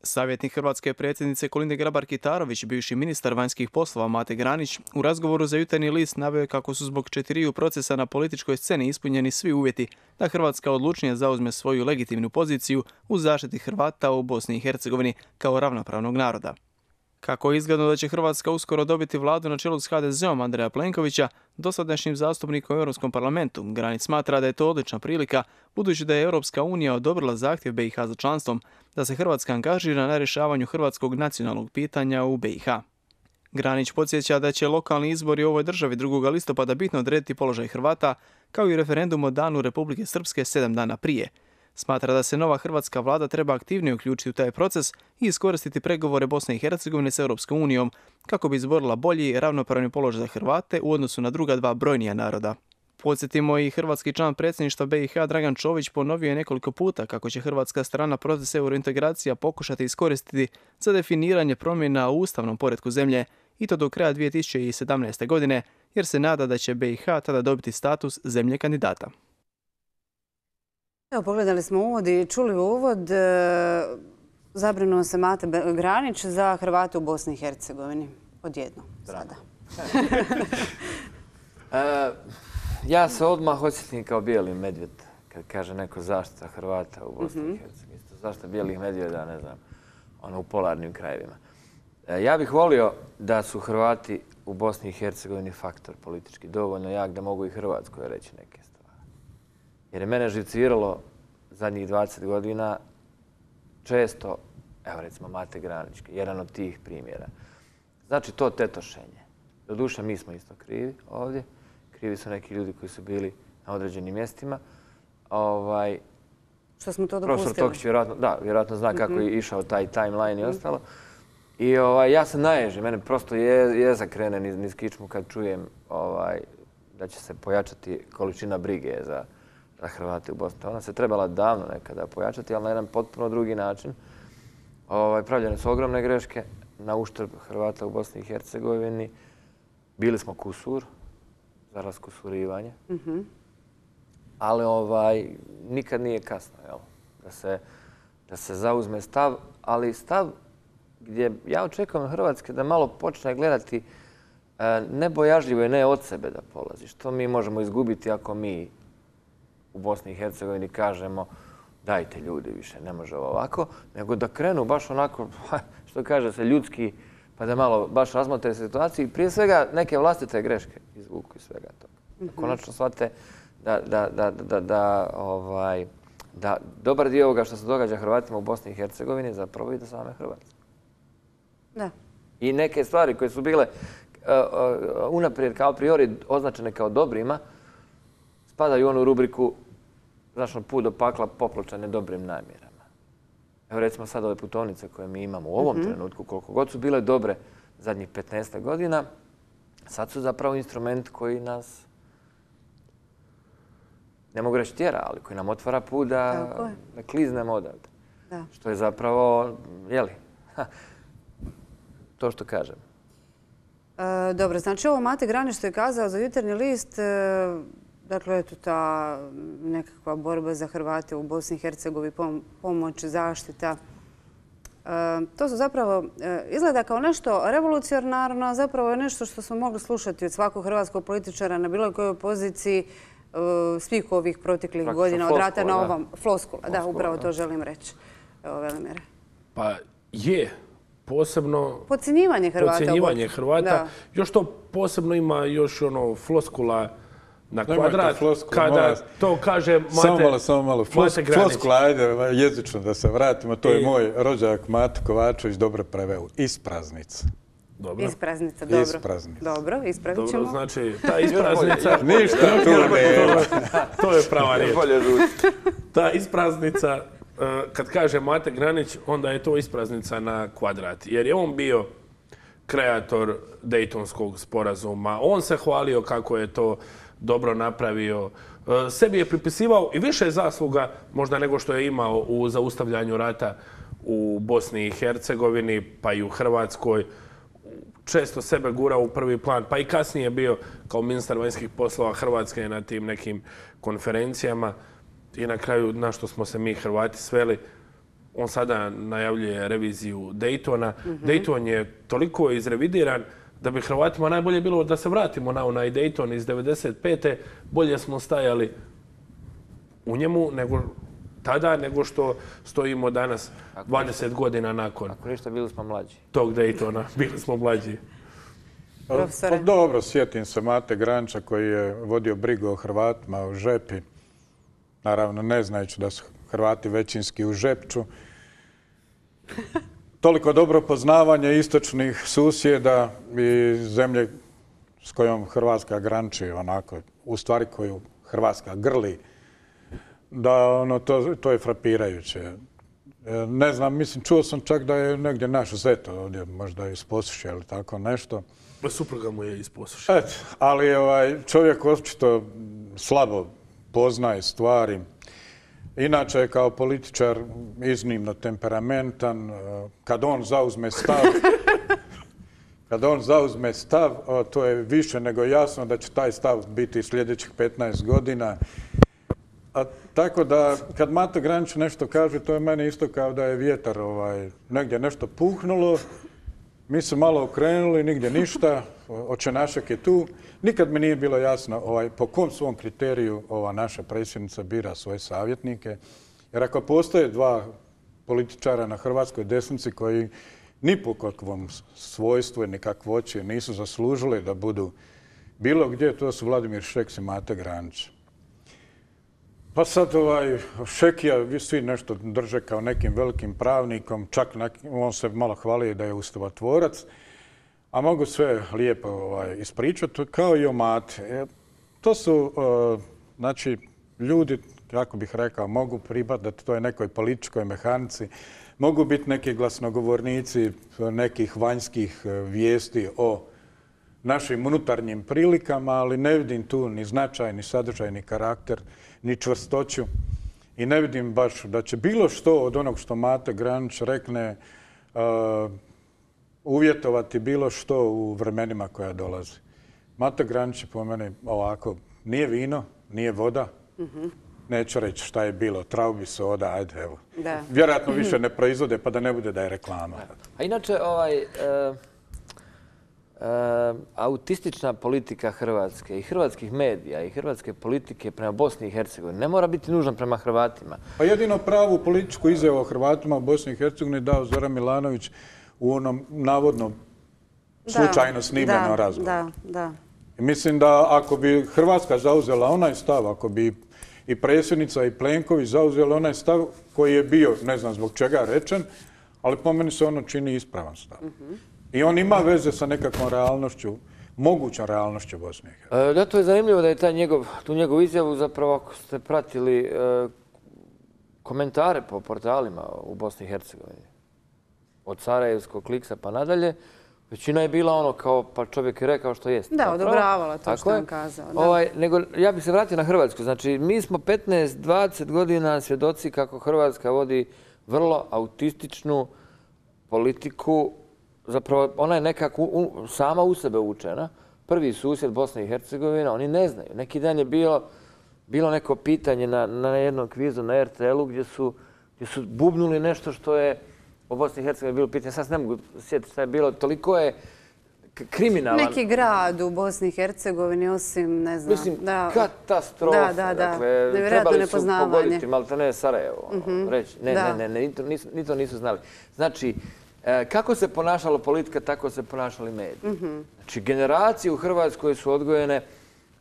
Savjetnik hrvatske predsjednice Kolinde Grabar-Kitarović, bivši ministar vanjskih poslova Mate Granić, u razgovoru za Jutarnji list naveo je kako su zbog 4 procesa na političkoj sceni ispunjeni svi uvjeti da Hrvatska odlučnije zauzme svoju legitimnu poziciju u zaštiti Hrvata u Bosni i Hercegovini kao ravnopravnog naroda. Kako je izgledno da će Hrvatska uskoro dobiti vladu na čelu s HDZ-om Andreja Plenkovića, dosadašnjim zastupnikom u Europskom parlamentu, Granić smatra da je to odlična prilika, budući da je Europska unija odobrila zahtjev BiH za članstvom, da se Hrvatska angažira na rješavanju hrvatskog nacionalnog pitanja u BiH. Granić podsjeća da će lokalni izbori u ovoj državi 2. listopada bitno odrediti položaj Hrvata, kao i referendum o danu Republike Srpske 7 dana prije. Smatra da se nova hrvatska vlada treba aktivnije uključiti u taj proces i iskoristiti pregovore Bosne i Hercegovine s Europskom unijom kako bi izborila bolji i ravnopravni položaj za Hrvate u odnosu na druga dva brojnija naroda. Podsjetimo, i hrvatski član predsjedništva BiH Dragan Čović ponovio je nekoliko puta kako će hrvatska strana proces eurointegracija pokušati iskoristiti za definiranje promjena u ustavnom poretku zemlje i to do kraja 2017. godine, jer se nada da će BiH tada dobiti status zemlje kandidata. Evo, pogledali smo uvod i čuli uvod. Zabrinuo se Mate Granić za Hrvate u Bosni i Hercegovini. Odjedno sada. Ja se odmah osjetim kao bijeli medvjed kad kaže neko zaštita Hrvata u Bosni i Hercegovini. Zaštita bijelih medvjeda, ne znam, u polarnim krajevima. Ja bih volio da su Hrvati u Bosni i Hercegovini faktor politički dovoljno jak da mogu i Hrvatskoj reći neke stvari. Jer je mene živciralo zadnjih 20 godina često, evo recimo Mate Granić, jedan od tih primjera. Znači to tetošenje. Doduše mi smo isto krivi ovdje. Krivi su neki ljudi koji su bili na određenim mjestima. Što smo to dopustili? Profesor Tokić vjerojatno zna kako je išao taj timeline i ostalo. I ja se naježim, mene prosto jezak krene niz kičmu kad čujem da će se pojačati količina brige za Hrvate u Bosni. Ona se trebala davno nekada pojačati, ali na jedan potpuno drugi način. Pravljene su ogromne greške na uštrb Hrvata u Bosni i Hercegovini. Bili smo kusur za raskusurivanje. Ali nikad nije kasno da se zauzme stav, ali stav gdje ja očekujem od Hrvatske da malo počne gledati ne bojažljivo i ne od sebe da polazi. Što mi možemo izgubiti ako mi u Bosni i Hercegovini kažemo dajte ljudi više, ne može ovako, nego da krenu baš onako, što kaže se, ljudski, pa da malo baš razmotre situaciju i prije svega neke vlastite greške izvuku iz svega toga. Konačno shvate da dobar dio ovoga što se događa Hrvatima u Bosni i Hercegovini zapravo ide same Hrvatske. Da. I neke stvari koje su bile unaprijed kao priori označene kao dobrima, spadaju u onu rubriku put do pakla popločane dobrim namjerama. Evo recimo sad ove putovnice koje mi imamo u ovom trenutku, koliko god su bile dobre zadnjih 15 godina, sad su zapravo instrument koji nas, ne mogu reći tjera, ali koji nam otvara put da kliznemo odavde. Što je zapravo, to što kažem. Dobro, znači ovo Mate Granić što je kazao za Jutarnji list, dakle, eto ta nekakva borba za Hrvate u Bosni i Hercegovini, pomoć, zaštita. To su zapravo, izgleda kao nešto revolucionarno, a zapravo je nešto što smo mogli slušati od svakog hrvatskog političara na bilo kojoj poziciji svih ovih proteklih godina od rata na ovom. Floskula, da, upravo to želim reći. Evo, Velimire. Pa je. Posebno podcjenjivanje Hrvata. Još to posebno ima još floskula na kvadrat. Kada to kaže Mate. Samo malo. Floskula, ajde jezično da se vratimo. To je moj rođak Mate Kovačević dobro preveo. Ispraznica. Ispraznica, dobro. Dobro, ispravit ćemo. Dobro, znači ta ispraznica... Ništa, to je prava riječ. Ta ispraznica... Kad kaže Mate Granić, onda je to ispraznica na kvadrat. Jer je on bio kreator Dejtonskog sporazuma. On se hvalio kako je to dobro napravio. Sebi je pripisivao i više zasluga možda nego što je imao u zaustavljanju rata u Bosni i Hercegovini, pa i u Hrvatskoj. Često sebe gurao u prvi plan, pa i kasnije bio kao ministar vanjskih poslova Hrvatske na tim nekim konferencijama. I na kraju, na što smo se mi Hrvati sveli, on sada najavljuje reviziju Dejtona. Dejton je toliko izrevidiran da bi Hrvatima najbolje bilo da se vratimo na onaj Dejton iz 1995. Bolje smo stajali u njemu nego što stojimo danas 20 godina nakon. Ako ništa, bili smo mlađi. Tog Dejtona, bili smo mlađi. Pa dobro, sjetim se Mate Granića koji je vodio brigu o Hrvatima u Žepi. Naravno, ne znajući da su Hrvati većinski u Žepču. Toliko dobro poznavanje istočnih susjeda i zemlje s kojom Hrvatska graniči, onako, u stvari koju Hrvatska grli, da to je frapirajuće. Ne znam, mislim, čuo sam čak da je negdje naš zet ovdje, možda iz Posušja ili tako nešto. Supruga mu je iz Posušja. Ali čovjek očito slabo poznaje stvari. Inače je kao političar iznimno temperamentan. Kad on zauzme stav, to je više nego jasno da će taj stav biti sljedećih 15 godina. Tako da, kad Mate Granić nešto kaže, to je meni isto kao da je vjetar negdje nešto puhnulo. Mi se malo okrenuli, nigdje ništa, očenašak je tu. Nikad mi nije bilo jasno po kom svom kriteriju ova naša predsjednica bira svoje savjetnike. Jer ako postoje dva političara na hrvatskoj desnici koji ni po kakvom svojstvu ni kakvoći nisu zaslužili da budu bilo gdje, to su Vladimir Šeks i Mate Granić. Pa sad Šekija, vi svi nešto drže kao nekim velikim pravnikom, čak on se malo hvali da je ustavotvorac, a mogu sve lijepo ispričati, kao i o Mate. To su, znači, ljudi, kako bih rekao, mogu pripadati toj nekoj političkoj mehanici, mogu biti neki glasnogovornici nekih vanjskih vijesti o našim unutarnjim prilikama, ali ne vidim tu ni značaj, ni sadržaj, ni karakter, ni čvrstoću. I ne vidim baš da će bilo što od onog što Mate Granić rekne uvjetovati bilo što u vremenima koja dolazi. Mate Granić je po meni ovako, nije vino, nije voda, neću reći šta je bilo, traubi soda, ajde evo. Vjerojatno više ne proizvode pa da ne bude da je reklama. A inače, autistična politika Hrvatske i hrvatskih medija i hrvatske politike prema Bosni i Hercegovini ne mora biti nužna prema Hrvatima. Pa jedino pravu političku izjavu o Hrvatima u Bosni i Hercegovini dao Zoran Milanović u onom navodno slučajno snimljenom razgovoru. Mislim da ako bi Hrvatska zauzela onaj stav, ako bi i predsjednica i Plenković zauzeli onaj stav koji je bio, ne znam zbog čega rečen, ali po meni se ono čini ispravan stav. I on ima veze sa nekakvom realnošću, mogućom realnošću Bosne i Hercegovine. Da, to je zanimljivo da je tu njegovu izjavu, zapravo ako ste pratili komentare po portalima u Bosni i Hercegovini, od Sarajevskog Kliksa pa nadalje, većina je bila ono kao, pa čovjek je rekao što jest. Da, odobravala to što je on kazao. Nego, ja bih se vratio na Hrvatsku. Znači, mi smo 15-20 godina svjedoci kako Hrvatska vodi vrlo autističnu politiku. Zapravo, ona je nekako sama u sebe učena. Prvi susjed Bosne i Hercegovine, oni ne znaju. Neki dan je bilo neko pitanje na jednom kvizu na RTL-u gdje su bubnuli nešto što je o Bosni i Hercegovini bilo pitanje. Sad se ne mogu sjetiti šta je bilo. Toliko je kriminalan. Neki grad u Bosni i Hercegovini, osim, ne znam. Mislim, katastrofa. Dakle, trebali su pogoditi maltene Sarajevo. Reći, ne, ni to nisu znali. Znači, kako se ponašala politika, tako se ponašali mediji. Znači, generacije u Hrvatskoj su odgojene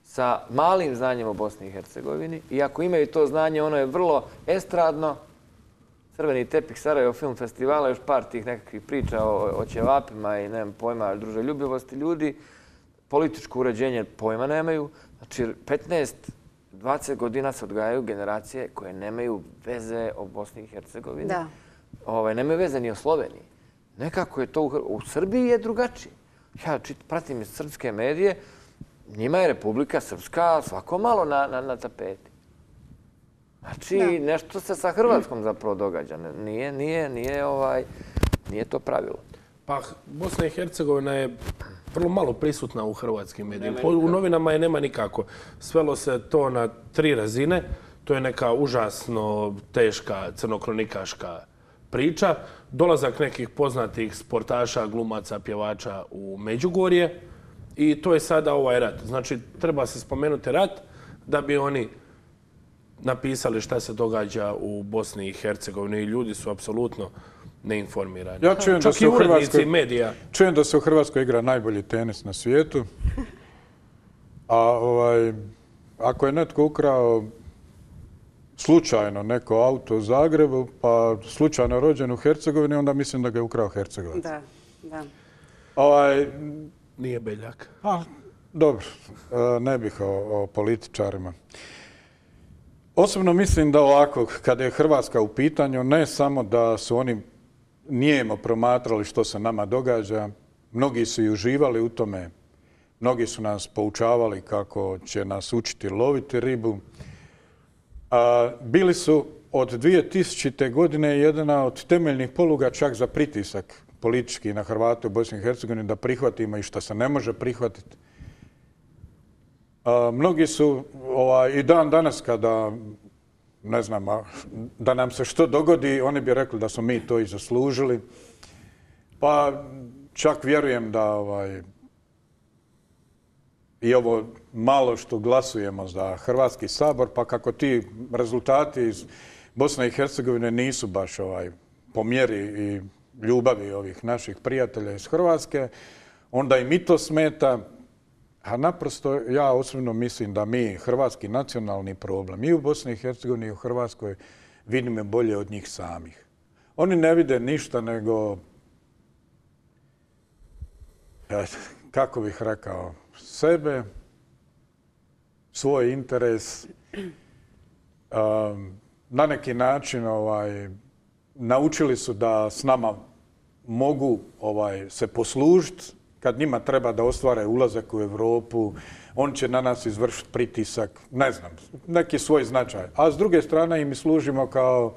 sa malim znanjem o Bosni i Hercegovini i ako imaju to znanje, ono je vrlo estradno. Crveni tepih Sarajevo film festivala, još par tih nekakvih priča o ćevapima i nemam pojma druželjubivosti ljudi. Političko uređenje pojma nemaju. Znači, 15-20 godina se odgajaju generacije koje nemaju veze o Bosni i Hercegovini. Nemaju veze ni o Sloveniji. Nekako je to u Srbiji je drugačije. Ja pratim srpske medije, njima je Republika Srpska svako malo na tapeti. Znači, nešto se sa Hrvatskom zapravo događa. Nije to pravilo. Pa, Bosna i Hercegovina je vrlo malo prisutna u hrvatskim medijima. U novinama je nema nikako. Svelo se to na 3 razine. To je neka užasno teška crnokronikaška priča. Dolazak nekih poznatih sportaša, glumaca, pjevača u Međugorje. I to je sada ovaj rat. Znači, treba se spomenuti rat da bi oni napisali šta se događa u Bosni i Hercegovini. Ljudi su apsolutno neinformirani. Ja čujem čak i urednici medija. Čujem da se u Hrvatskoj igra najbolji tenis na svijetu. A ako je netko ukrao slučajno neko auto u Zagrebu, pa slučajno rođen u Hercegovini, onda mislim da ga je ukrao Hercegovac. Da. Nije Beljak. Dobro, ne bih o političarima. Osobno mislim da ovako, kada je Hrvatska u pitanju, ne samo da su oni nijemo promatrali što se nama događa, mnogi su i uživali u tome, mnogi su nas poučavali kako će nas učiti loviti ribu. Bili su od 2000. godine jedna od temeljnih poluga čak za pritisak politički na Hrvate u Bosni i Hercegovini da prihvatimo i što se ne može prihvatiti. Mnogi su i dan danas kada, ne znam, da nam se što dogodi, oni bi rekli da smo mi to i zaslužili. Pa čak vjerujem da i ovo malo što glasujemo za Hrvatski sabor, pa kako ti rezultati iz Bosne i Hercegovine nisu baš po mjeri i ljubavi ovih naših prijatelja iz Hrvatske, onda i mi to smeta. A naprosto ja osobno mislim da mi hrvatski nacionalni problem i u Bosni i Hercegovini i u Hrvatskoj vidimo bolje od njih samih. Oni ne vide ništa nego, kako bih rekao, sebe, svoj interes, na neki način naučili su da s nama mogu se poslužiti kad njima treba da ostvare ulazak u Europu, on će na nas izvršiti pritisak, ne znam, neki svoj značaj. A s druge strane im služimo kao,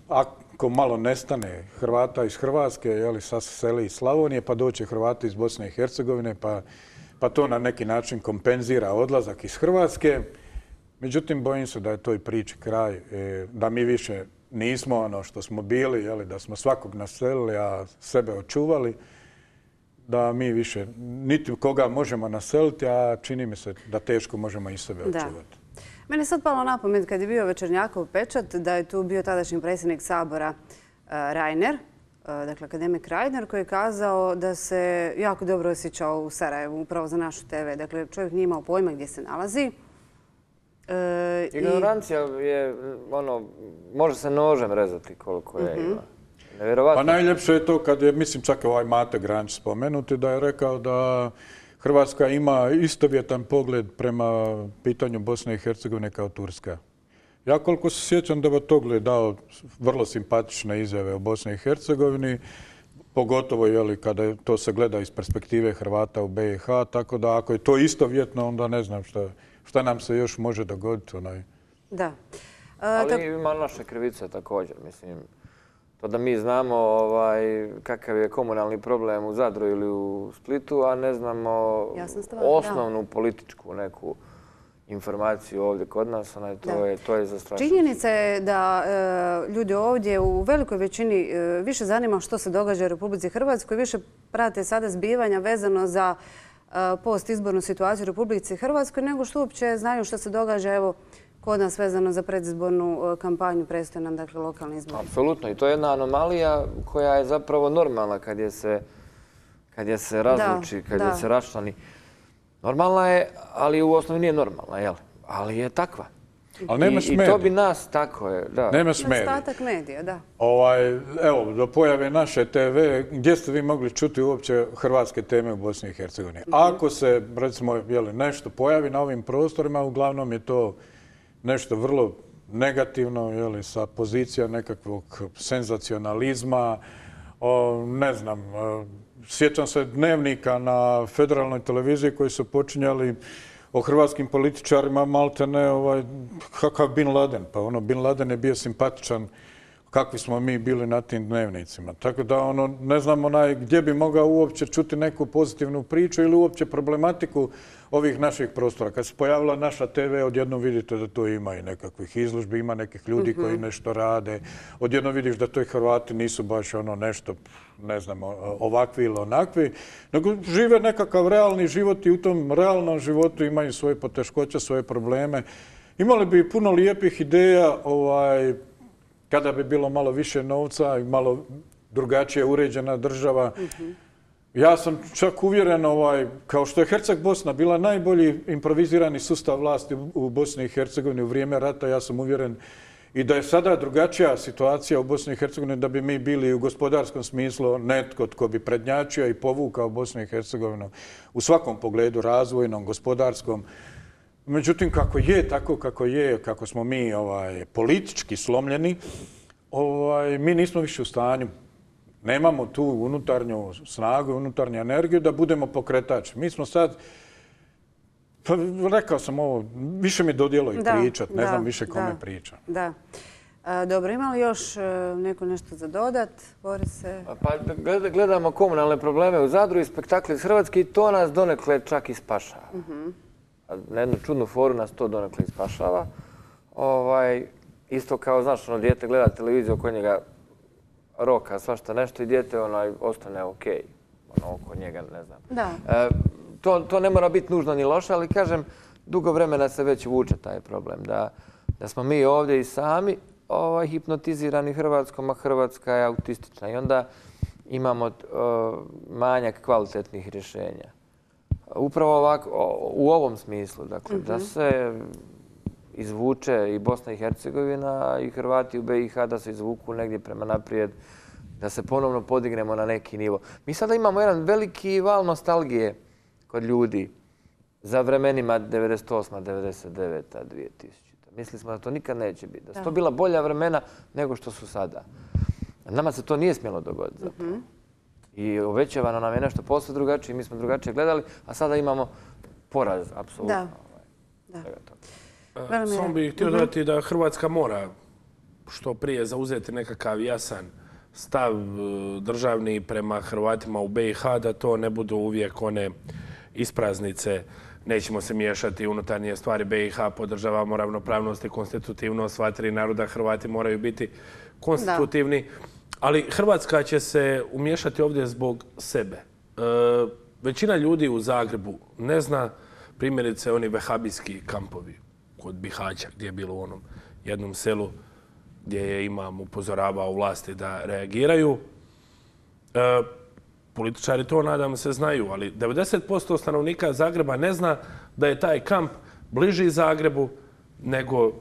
ako malo nestane Hrvata iz Hrvatske, sad se seli iz Slavonije, pa doće Hrvati iz Bosne i Hercegovine, pa to na neki način kompenzira odlazak iz Hrvatske. Međutim, bojim se da je toj priči kraj, da mi više nismo ono što smo bili, da smo svakog naselili, a sebe očuvali, da mi više niti koga možemo naseliti, a čini mi se da teško možemo i sebe očuvati. Meni je sad palo na pamet kad je bio Večernjakov pečat da je tu bio tadašnji predsjednik Sabora Reiner, dakle akademik Reiner, koji je kazao da se jako dobro osjećao u Sarajevu, upravo za našu TV. Dakle, čovjek nije imao pojma gdje se nalazi. Ignorancija je, može se nožem rezati koliko je ima. Pa najljepše je to kad je, mislim čak ovaj Mate Granić spomenuti, da je rekao da Hrvatska ima istovjetan pogled prema pitanju Bosne i Hercegovine kao Turska. Ja koliko se sjećam da je Togle dao vrlo simpatične izjave o Bosni i Hercegovini, pogotovo kada to se gleda iz perspektive Hrvata u BiH, tako da ako je to istovjetno, onda ne znam šta nam se još može dogoditi. Da. Ali ima naše krivice također, mislim. To da mi znamo kakav je komunalni problem u Zadru ili u Splitu, a ne znamo osnovnu političku neku informaciju ovdje kod nas, to je zastrašujuće. Činjenica je da ljudi ovdje u velikoj većini više zanima što se događa u Republici Hrvatskoj, više prate sada zbivanja vezano za postizbornu situaciju u Republici Hrvatskoj, nego što uopće znaju što se događa, evo, kod nas vezano za predizbornu kampanju, predstoje nam, dakle, lokalni izbori. Apsolutno. I to je jedna anomalija koja je zapravo normalna kad je se razluči, kad je se raščlani. Normalna je, ali u osnovi nije normalna, jel? Ali je takva. Ali nema smedija. I to bi nas, tako je, da. Nema smedija. Nedostatak medija, da. Evo, do pojave naše TV, gdje ste vi mogli čuti uopće hrvatske teme u Bosni i Hercegovini? Ako se, recimo, nešto pojavi na ovim prostorima, uglavnom je to nešto vrlo negativno, sa pozicija nekakvog senzacionalizma, ne znam, sjećam se dnevnika na federalnoj televiziji koji su počinjali o hrvatskim političarima, maltene, kakav Bin Laden. Pa Bin Laden je bio simpatičan kakvi smo mi bili na tim dnevnicima. Tako da ne znam gdje bi mogao uopće čuti neku pozitivnu priču ili uopće problematiku ovih naših prostora. Kad se pojavila naša TV, odjednom vidite da to ima i nekakvih izložbi, ima nekih ljudi koji nešto rade. Odjednom vidiš da to i Hrvati nisu baš nešto, ne znam, ovakvi ili onakvi, nego žive nekakav realni život i u tom realnom životu imaju svoje poteškoće, svoje probleme. Imali bi puno lijepih ideja, kada bi bilo malo više novca i malo drugačije uređena država. Ja sam čak uvjeren, kao što je Herceg-Bosna bila najbolji improvizirani sustav vlasti u Bosni i Hercegovini u vrijeme rata, ja sam uvjeren i da je sada drugačija situacija u Bosni i Hercegovini, da bi mi bili u gospodarskom smislu netko tko bi prednjačio i povukao Bosnu i Hercegovinu u svakom pogledu, razvojnom, gospodarskom. Međutim, kako je, tako kako je, kako smo mi politički slomljeni, mi nismo više u stanju. Nemamo tu unutarnju snagu, unutarnju energiju da budemo pokretač. Mi smo sad, pa rekao sam ovo, više mi dodijelo i pričat, ne znam više kome pričam. Da. Dobro, ima li još neko nešto za dodat, Borise? Pa gledamo komunalne probleme u Zadru i spektakle iz Hrvatske i to nas donekle čak i spašava. Na jednu čudnu foru nas to donekle ispašava. Isto kao, znaš, dijete gleda televiziju, oko njega roka, svašta nešto i dijete ostane okej. Oko njega, ne znam. To ne mora biti nužno ni loše, ali kažem, dugo vremena se već vuče taj problem. Da smo mi ovdje i sami hipnotizirani Hrvatskom, a Hrvatska je autistična. I onda imamo manjak kvalitetnih rješenja. upravo ovako, u ovom smislu, dakle, da se izvuče i Bosna i Hercegovina i Hrvati u BiH, da se izvuku negdje prema naprijed, da se ponovno podignemo na neki nivo. Mi sada imamo jedan veliki val nostalgije kod ljudi za vremenima 98., 99., 2000. Mislili smo da to nikad neće biti. Da su to bila bolja vremena nego što su sada. Nama se to nije smjelo dogoditi zapravo. I obećavano nam je nešto posve drugačije, mi smo drugačije gledali, a sada imamo poraz, apsolutno. Samo bih htio dodati da Hrvatska mora što prije zauzeti nekakav jasan stav državni prema Hrvatima u BiH, da to ne budu uvijek one ispraznice. Nećemo se miješati u unutarnje stvari BiH, podržavamo ravnopravnost i konstitutivnost sva tri naroda, Hrvati moraju biti konstitutivni. Ali Hrvatska će se umiješati ovdje zbog sebe. Većina ljudi u Zagrebu ne zna primjerice oni vehabijski kampovi kod Bihaća, gdje je bilo u onom jednom selu gdje je imam upozoravao vlasti da reagiraju. Političari to, nadam se, znaju, ali 90% stanovnika Zagreba ne zna da je taj kamp bliži Zagrebu nego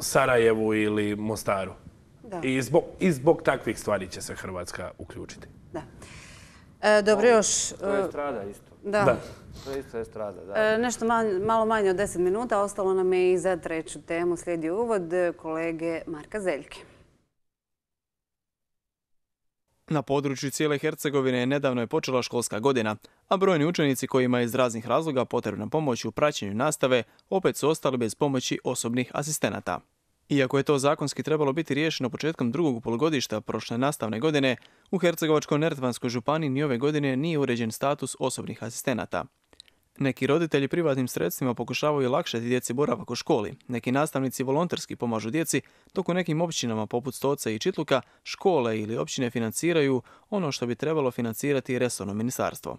Sarajevu ili Mostaru. I zbog takvih stvari će se Hrvatska uključiti. Dobro, još... To je strada isto. Da. To je isto strada, da. Nešto malo manje od 10 minuta. Ostalo nam je i za treću temu. Slijedi uvod kolege Marka Zeljke. Na području cijele Hercegovine nedavno je počela školska godina, a brojni učenici kojima je iz raznih razloga potrebna pomoć u praćenju nastave opet su ostali bez pomoći osobnih asistenata. Iako je to zakonski trebalo biti riješeno početkom drugog polugodišta prošle nastavne godine, u Hercegovačko-neretvanskoj županiji ni ove godine nije uređen status osobnih asistenata. Neki roditelji privatnim sredstvima pokušavaju olakšati djeci boravak u školi, neki nastavnici volonterski pomažu djeci, dok u nekim općinama poput Stoca i Čitluka škole ili općine financiraju ono što bi trebalo financirati resorno ministarstvo.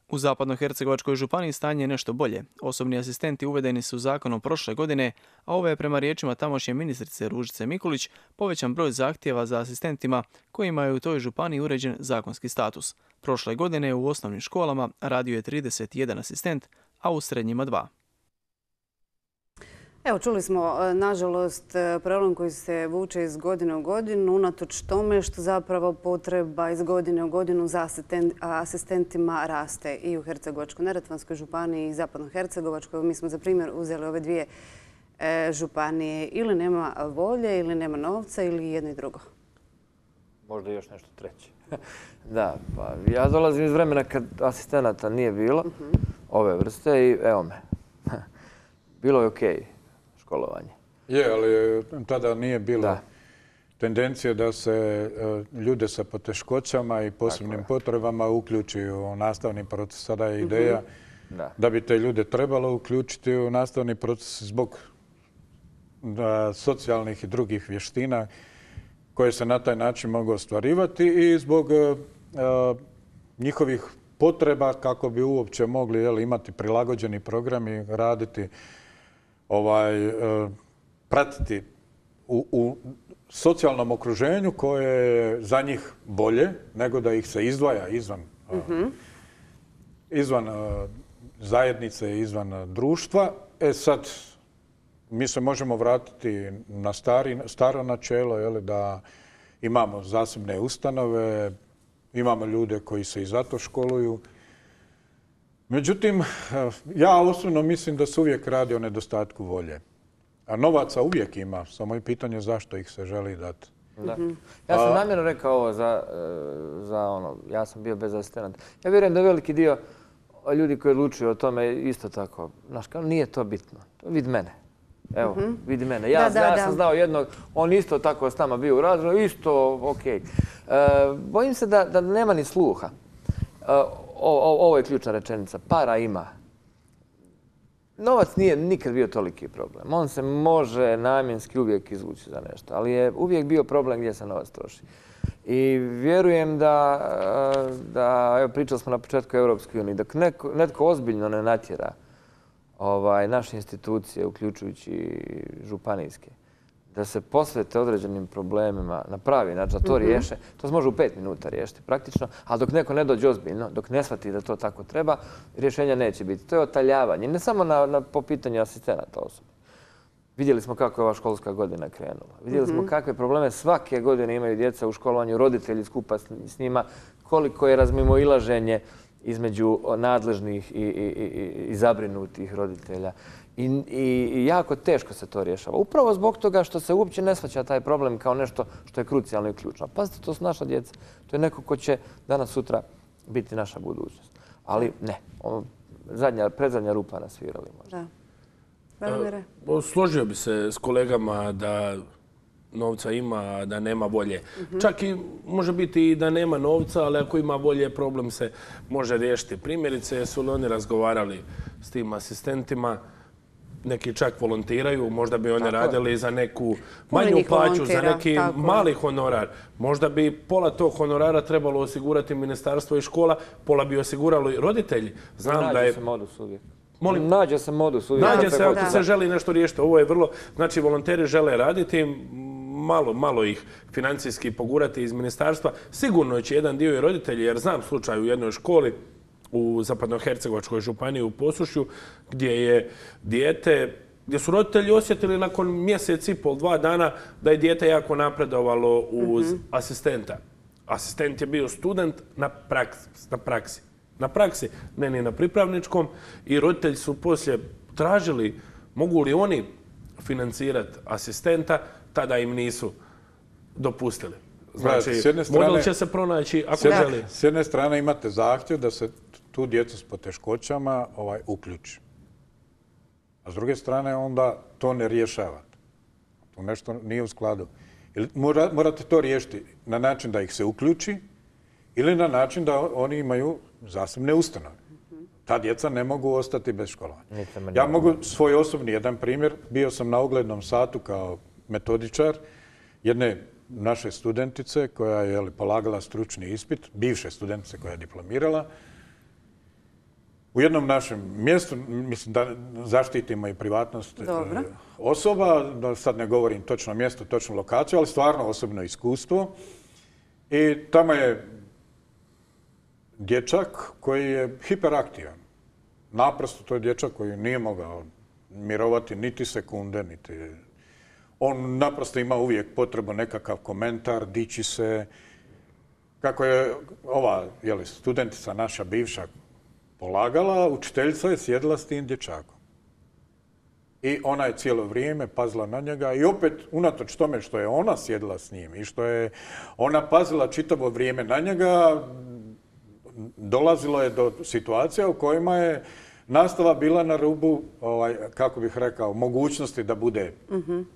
U Zapadnohercegovačkoj županiji stanje je nešto bolje. Osobni asistenti uvedeni su zakonom prošle godine, a ovo je prema riječima tamošnje ministrice Ružice Mikulić povećan broj zahtjeva za asistentima kojima je u toj županiji uređen zakonski status. Prošle godine u osnovnim školama radio je 31 asistent, a u srednjima 2. Evo, čuli smo, nažalost, problem koji se vuče iz godine u godinu, unatoč tome što zapravo potreba iz godine u godinu za asistentima raste i u Hercegovačko-neretvanskoj županiji i Zapadno-hercegovačkoj. Mi smo za primjer uzeli ove dvije županije. Ili nema volje, ili nema novca, ili jedno i drugo. Možda još nešto treće. Da, pa ja dolazim iz vremena kad asistenata nije bilo, ove vrste, i evo me. Bilo je okej. Školovanje. Je, ali tada nije bilo tendencije da se ljude sa poteškoćama i posebnim potrebama uključi u nastavni proces. Sada je ideja da bi te ljude trebalo uključiti u nastavni proces zbog socijalnih i drugih vještina koje se na taj način mogu ostvarivati i zbog njihovih potreba kako bi uopće mogli imati prilagođeni program i raditi pratiti u socijalnom okruženju koje je za njih bolje nego da ih se izdvaja izvan zajednice, izvan društva. Sad, mi se možemo vratiti na staro načelo, da imamo zasebne ustanove, imamo ljude koji se i zato školuju. Međutim, ja osobno mislim da se uvijek radi o nedostatku volje. A novaca uvijek ima, samo je pitanje zašto ih se želi dati. Ja sam namjerno rekao ovo ja sam bio bez asistenata. Ja vjerujem da veliki dio ljudi koji odlučuju o tome isto tako. Znaš, nije to bitno. Vidi mene. Evo, vidi mene. Ja sam znao jednog, on isto tako s nama bio u razredu, isto okej. Bojim se da nema ni sluha. Ovo je ključna rečenica. Para ima. Novac nije nikad bio toliki problem. On se može namjenski uvijek izvući za nešto, ali je uvijek bio problem gdje se novac troši. I vjerujem da evo, pričali smo na početku Europske unije, dok netko ozbiljno ne natjera naše institucije, uključujući županijske, da se posvete određenim problemima na pravi način, da to riješe, to se može u 5 minuta riješiti praktično, ali dok neko ne dođe ozbiljno, dok ne shvati da to tako treba, rješenja neće biti. To je otaljavanje, ne samo po pitanju asistenata osoba. Vidjeli smo kako je ova školska godina krenula. Vidjeli smo kakve probleme svake godine imaju djeca u školovanju, roditelji skupa s njima, koliko je razmimoilaženje između nadležnih i zabrinutih roditelja. I jako teško se to rješava. Upravo zbog toga što se uopće ne shvaća taj problem kao nešto što je krucijalno i ključno. Pazite, to su naša djeca. To je neko ko će danas sutra biti naša budućnost. Ali ne, predzadnja rupa nasvirali možda. Složio bi se s kolegama da novca ima, da nema volje. Čak i može biti i da nema novca, ali ako ima volje, problem se može riješiti. Primjerice, su li oni razgovarali s tim asistentima, neki čak volontiraju, možda bi oni radili za neku manju plaću, za neki mali honorar. Možda bi pola tog honorara trebalo osigurati ministarstvo i škola, pola bi osigurali roditelji. Znam da je... modus uvijek. Nađe se modus uvijek. Nađe se ako se želi nešto riješiti. Ovo je vrlo... Znači, volonteri žele raditi, malo ih financijski pogurati iz ministarstva. Sigurno će jedan dio i roditelji, jer znam slučaj u jednoj školi u Zapadnohercegovačkoj županiji u Posušju, gdje su roditelji osjetili nakon mjesec i pol, 2 dana da je dijete jako napredovalo uz asistenta. Asistent je bio student na praksi, ne ni na pripravničkom, i roditelji su poslije tražili mogu li oni financirati asistenta, tada im nisu dopustili. Znači, model će se pronaći ako želi. S jedne strane imate zahtjev da se tu djecu s poteškoćama uključi. A s druge strane onda to ne rješavate. To nešto nije u skladu. Morate to riješiti na način da ih se uključi ili na način da oni imaju zasebne ustanove. Ta djeca ne mogu ostati bez školovanja. Ja mogu svoj osobni jedan primjer. Bio sam na oglednom satu kao metodičar jedne naše studentice koja je polagala stručni ispit, bivše studentice koja je diplomirala. U jednom našem mjestu, mislim da zaštitimo i privatnost osoba, da sad ne govorim točno mjesto, točnu lokaciju, ali stvarno osobno iskustvo. I tamo je dječak koji je hiperaktivan. Naprosto to je dječak koji nije mogao mirovati niti sekunde, niti... On naprosto ima uvijek potrebu nekakav komentar, dići se. Kako je ova studentica naša bivša polagala, učiteljica je sjedila s tim dječakom. I ona je cijelo vrijeme pazila na njega i opet, unatoč tome što je ona sjedila s njim i što je ona pazila čitavo vrijeme na njega, dolazilo je do situacija u kojima je nastava bila na rubu, kako bih rekao, mogućnosti da bude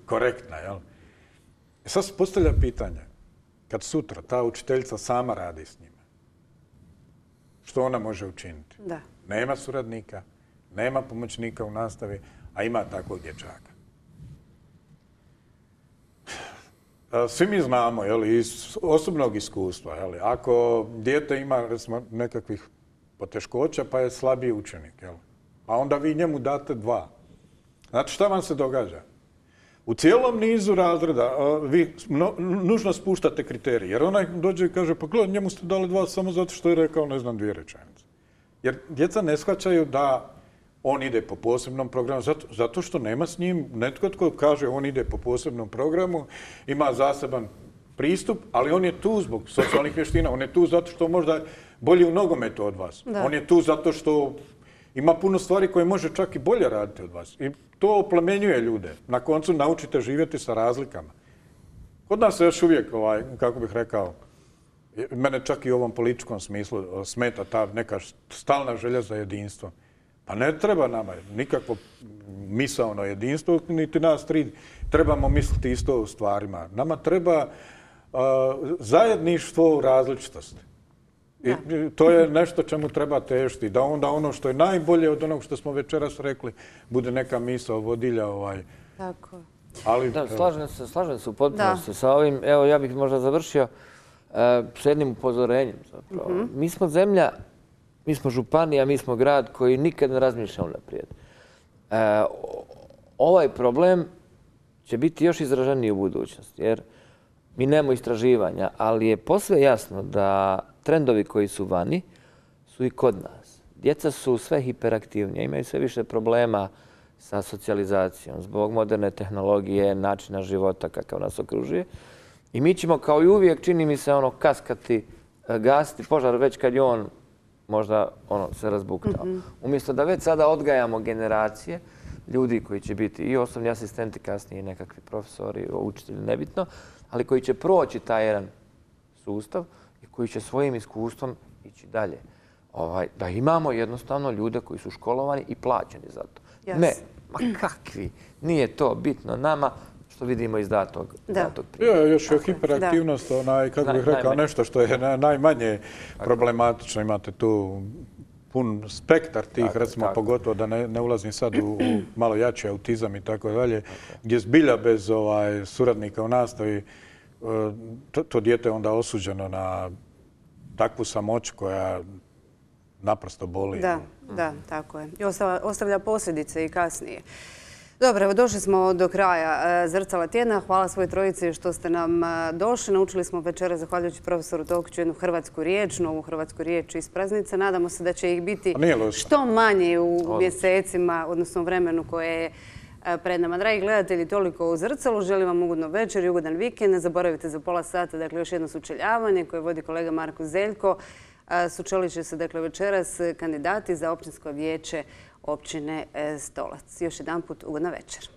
korektna. Sad se postavlja pitanje, kad sutra ta učiteljica sama radi s njima, što ona može učiniti? Nema suradnika, nema pomoćnika u nastavi, a ima takvog dječaka. Svi mi znamo, iz osobnog iskustva, ako dijete ima, recimo, nekakvih poteškoća, pa je slabiji učenik, a onda vi njemu date 2. Znači, šta vam se događa? U cijelom nizu razreda vi nužno spuštate kriterije, jer onaj dođe i kaže, pa gledaj, njemu ste dali 2 samo zato što je rekao, ne znam, 2 rečenice. Jer djeca ne shvaćaju da on ide po posebnom programu, zato što nema s njim netko tko kaže on ide po posebnom programu, ima zaseban pristup, ali on je tu zbog socijalnih vještina, on je tu zato što možda bolji u nogometu od vas. On je tu zato što ima puno stvari koje može čak i bolje raditi od vas. I to oplemenjuje ljude. Na koncu naučite živjeti sa razlikama. Kod nas se još uvijek, kako bih rekao, mene čak i u ovom političkom smislu smeta ta neka stalna želja za jedinstvo. Pa ne treba nama nikakvo misaono jedinstvo, niti nas 3 trebamo misliti isto u stvarima. Nama treba zajedništvo u različitosti. I to je nešto čemu treba težiti, da onda ono što je najbolje od onog što smo večeras rekli bude neka misao vodilja. Tako. Slažem se u potpunosti sa ovim. Evo, ja bih možda završio s jednim upozorenjem zapravo. Mi smo zemlja, mi smo županija, mi smo grad koji nikad ne razmišlja unaprijed. Ovaj problem će biti još izraženiji u budućnosti. Jer mi nemamo istraživanja, ali je posve jasno da trendovi koji su vani su i kod nas. Djeca su sve hiperaktivnije, imaju sve više problema sa socijalizacijom zbog moderne tehnologije, načina života kakav nas okružuje. I mi ćemo kao i uvijek, čini mi se, kaskati, gasiti požar već kad je on možda se razbuktao. Umjesto da već sada odgajamo generacije ljudi koji će biti i osnovni asistenti, kasnije nekakvi profesori, učitelji, nebitno, ali koji će proći taj jedan sustav i koji će svojim iskustvom ići dalje. Da imamo jednostavno ljude koji su školovani i plaćeni za to. Ne, ma kakvi, nije to bitno nama, što vidimo iz datog primjera. Još je hiperaktivnost, kako bih rekao, nešto što je najmanje problematično. Imate tu pun spektar tih, recimo pogotovo da ne ulazim sad u malo jači autizam i tako dalje, gdje zbilja bez suradnika u nastavi to dijete je onda osuđeno na takvu samoću koja naprosto boli. Da, tako je. I ostavlja posljedice i kasnije. Dobro, evo došli smo do kraja Zrcala tjedna. Hvala svoj trojici što ste nam došli. Naučili smo večeras, zahvaljujući profesoru Tokiću, jednu hrvatsku riječ, novu hrvatsku riječ iz praznice. Nadamo se da će ih biti što manje u mjesecima, odnosno vremenu koje je pred nama. Dragi gledatelji, toliko u Zrcalu. Želim vam ugodno večer i ugodan vikend. Ne zaboravite za pola sata, dakle, još jedno sučeljavanje koje vodi kolega Marko Zeljko. Sučelit će se, dakle, večeras kandidati za općinsko vijeće općine Stolac. Još jedan put ugodna večer.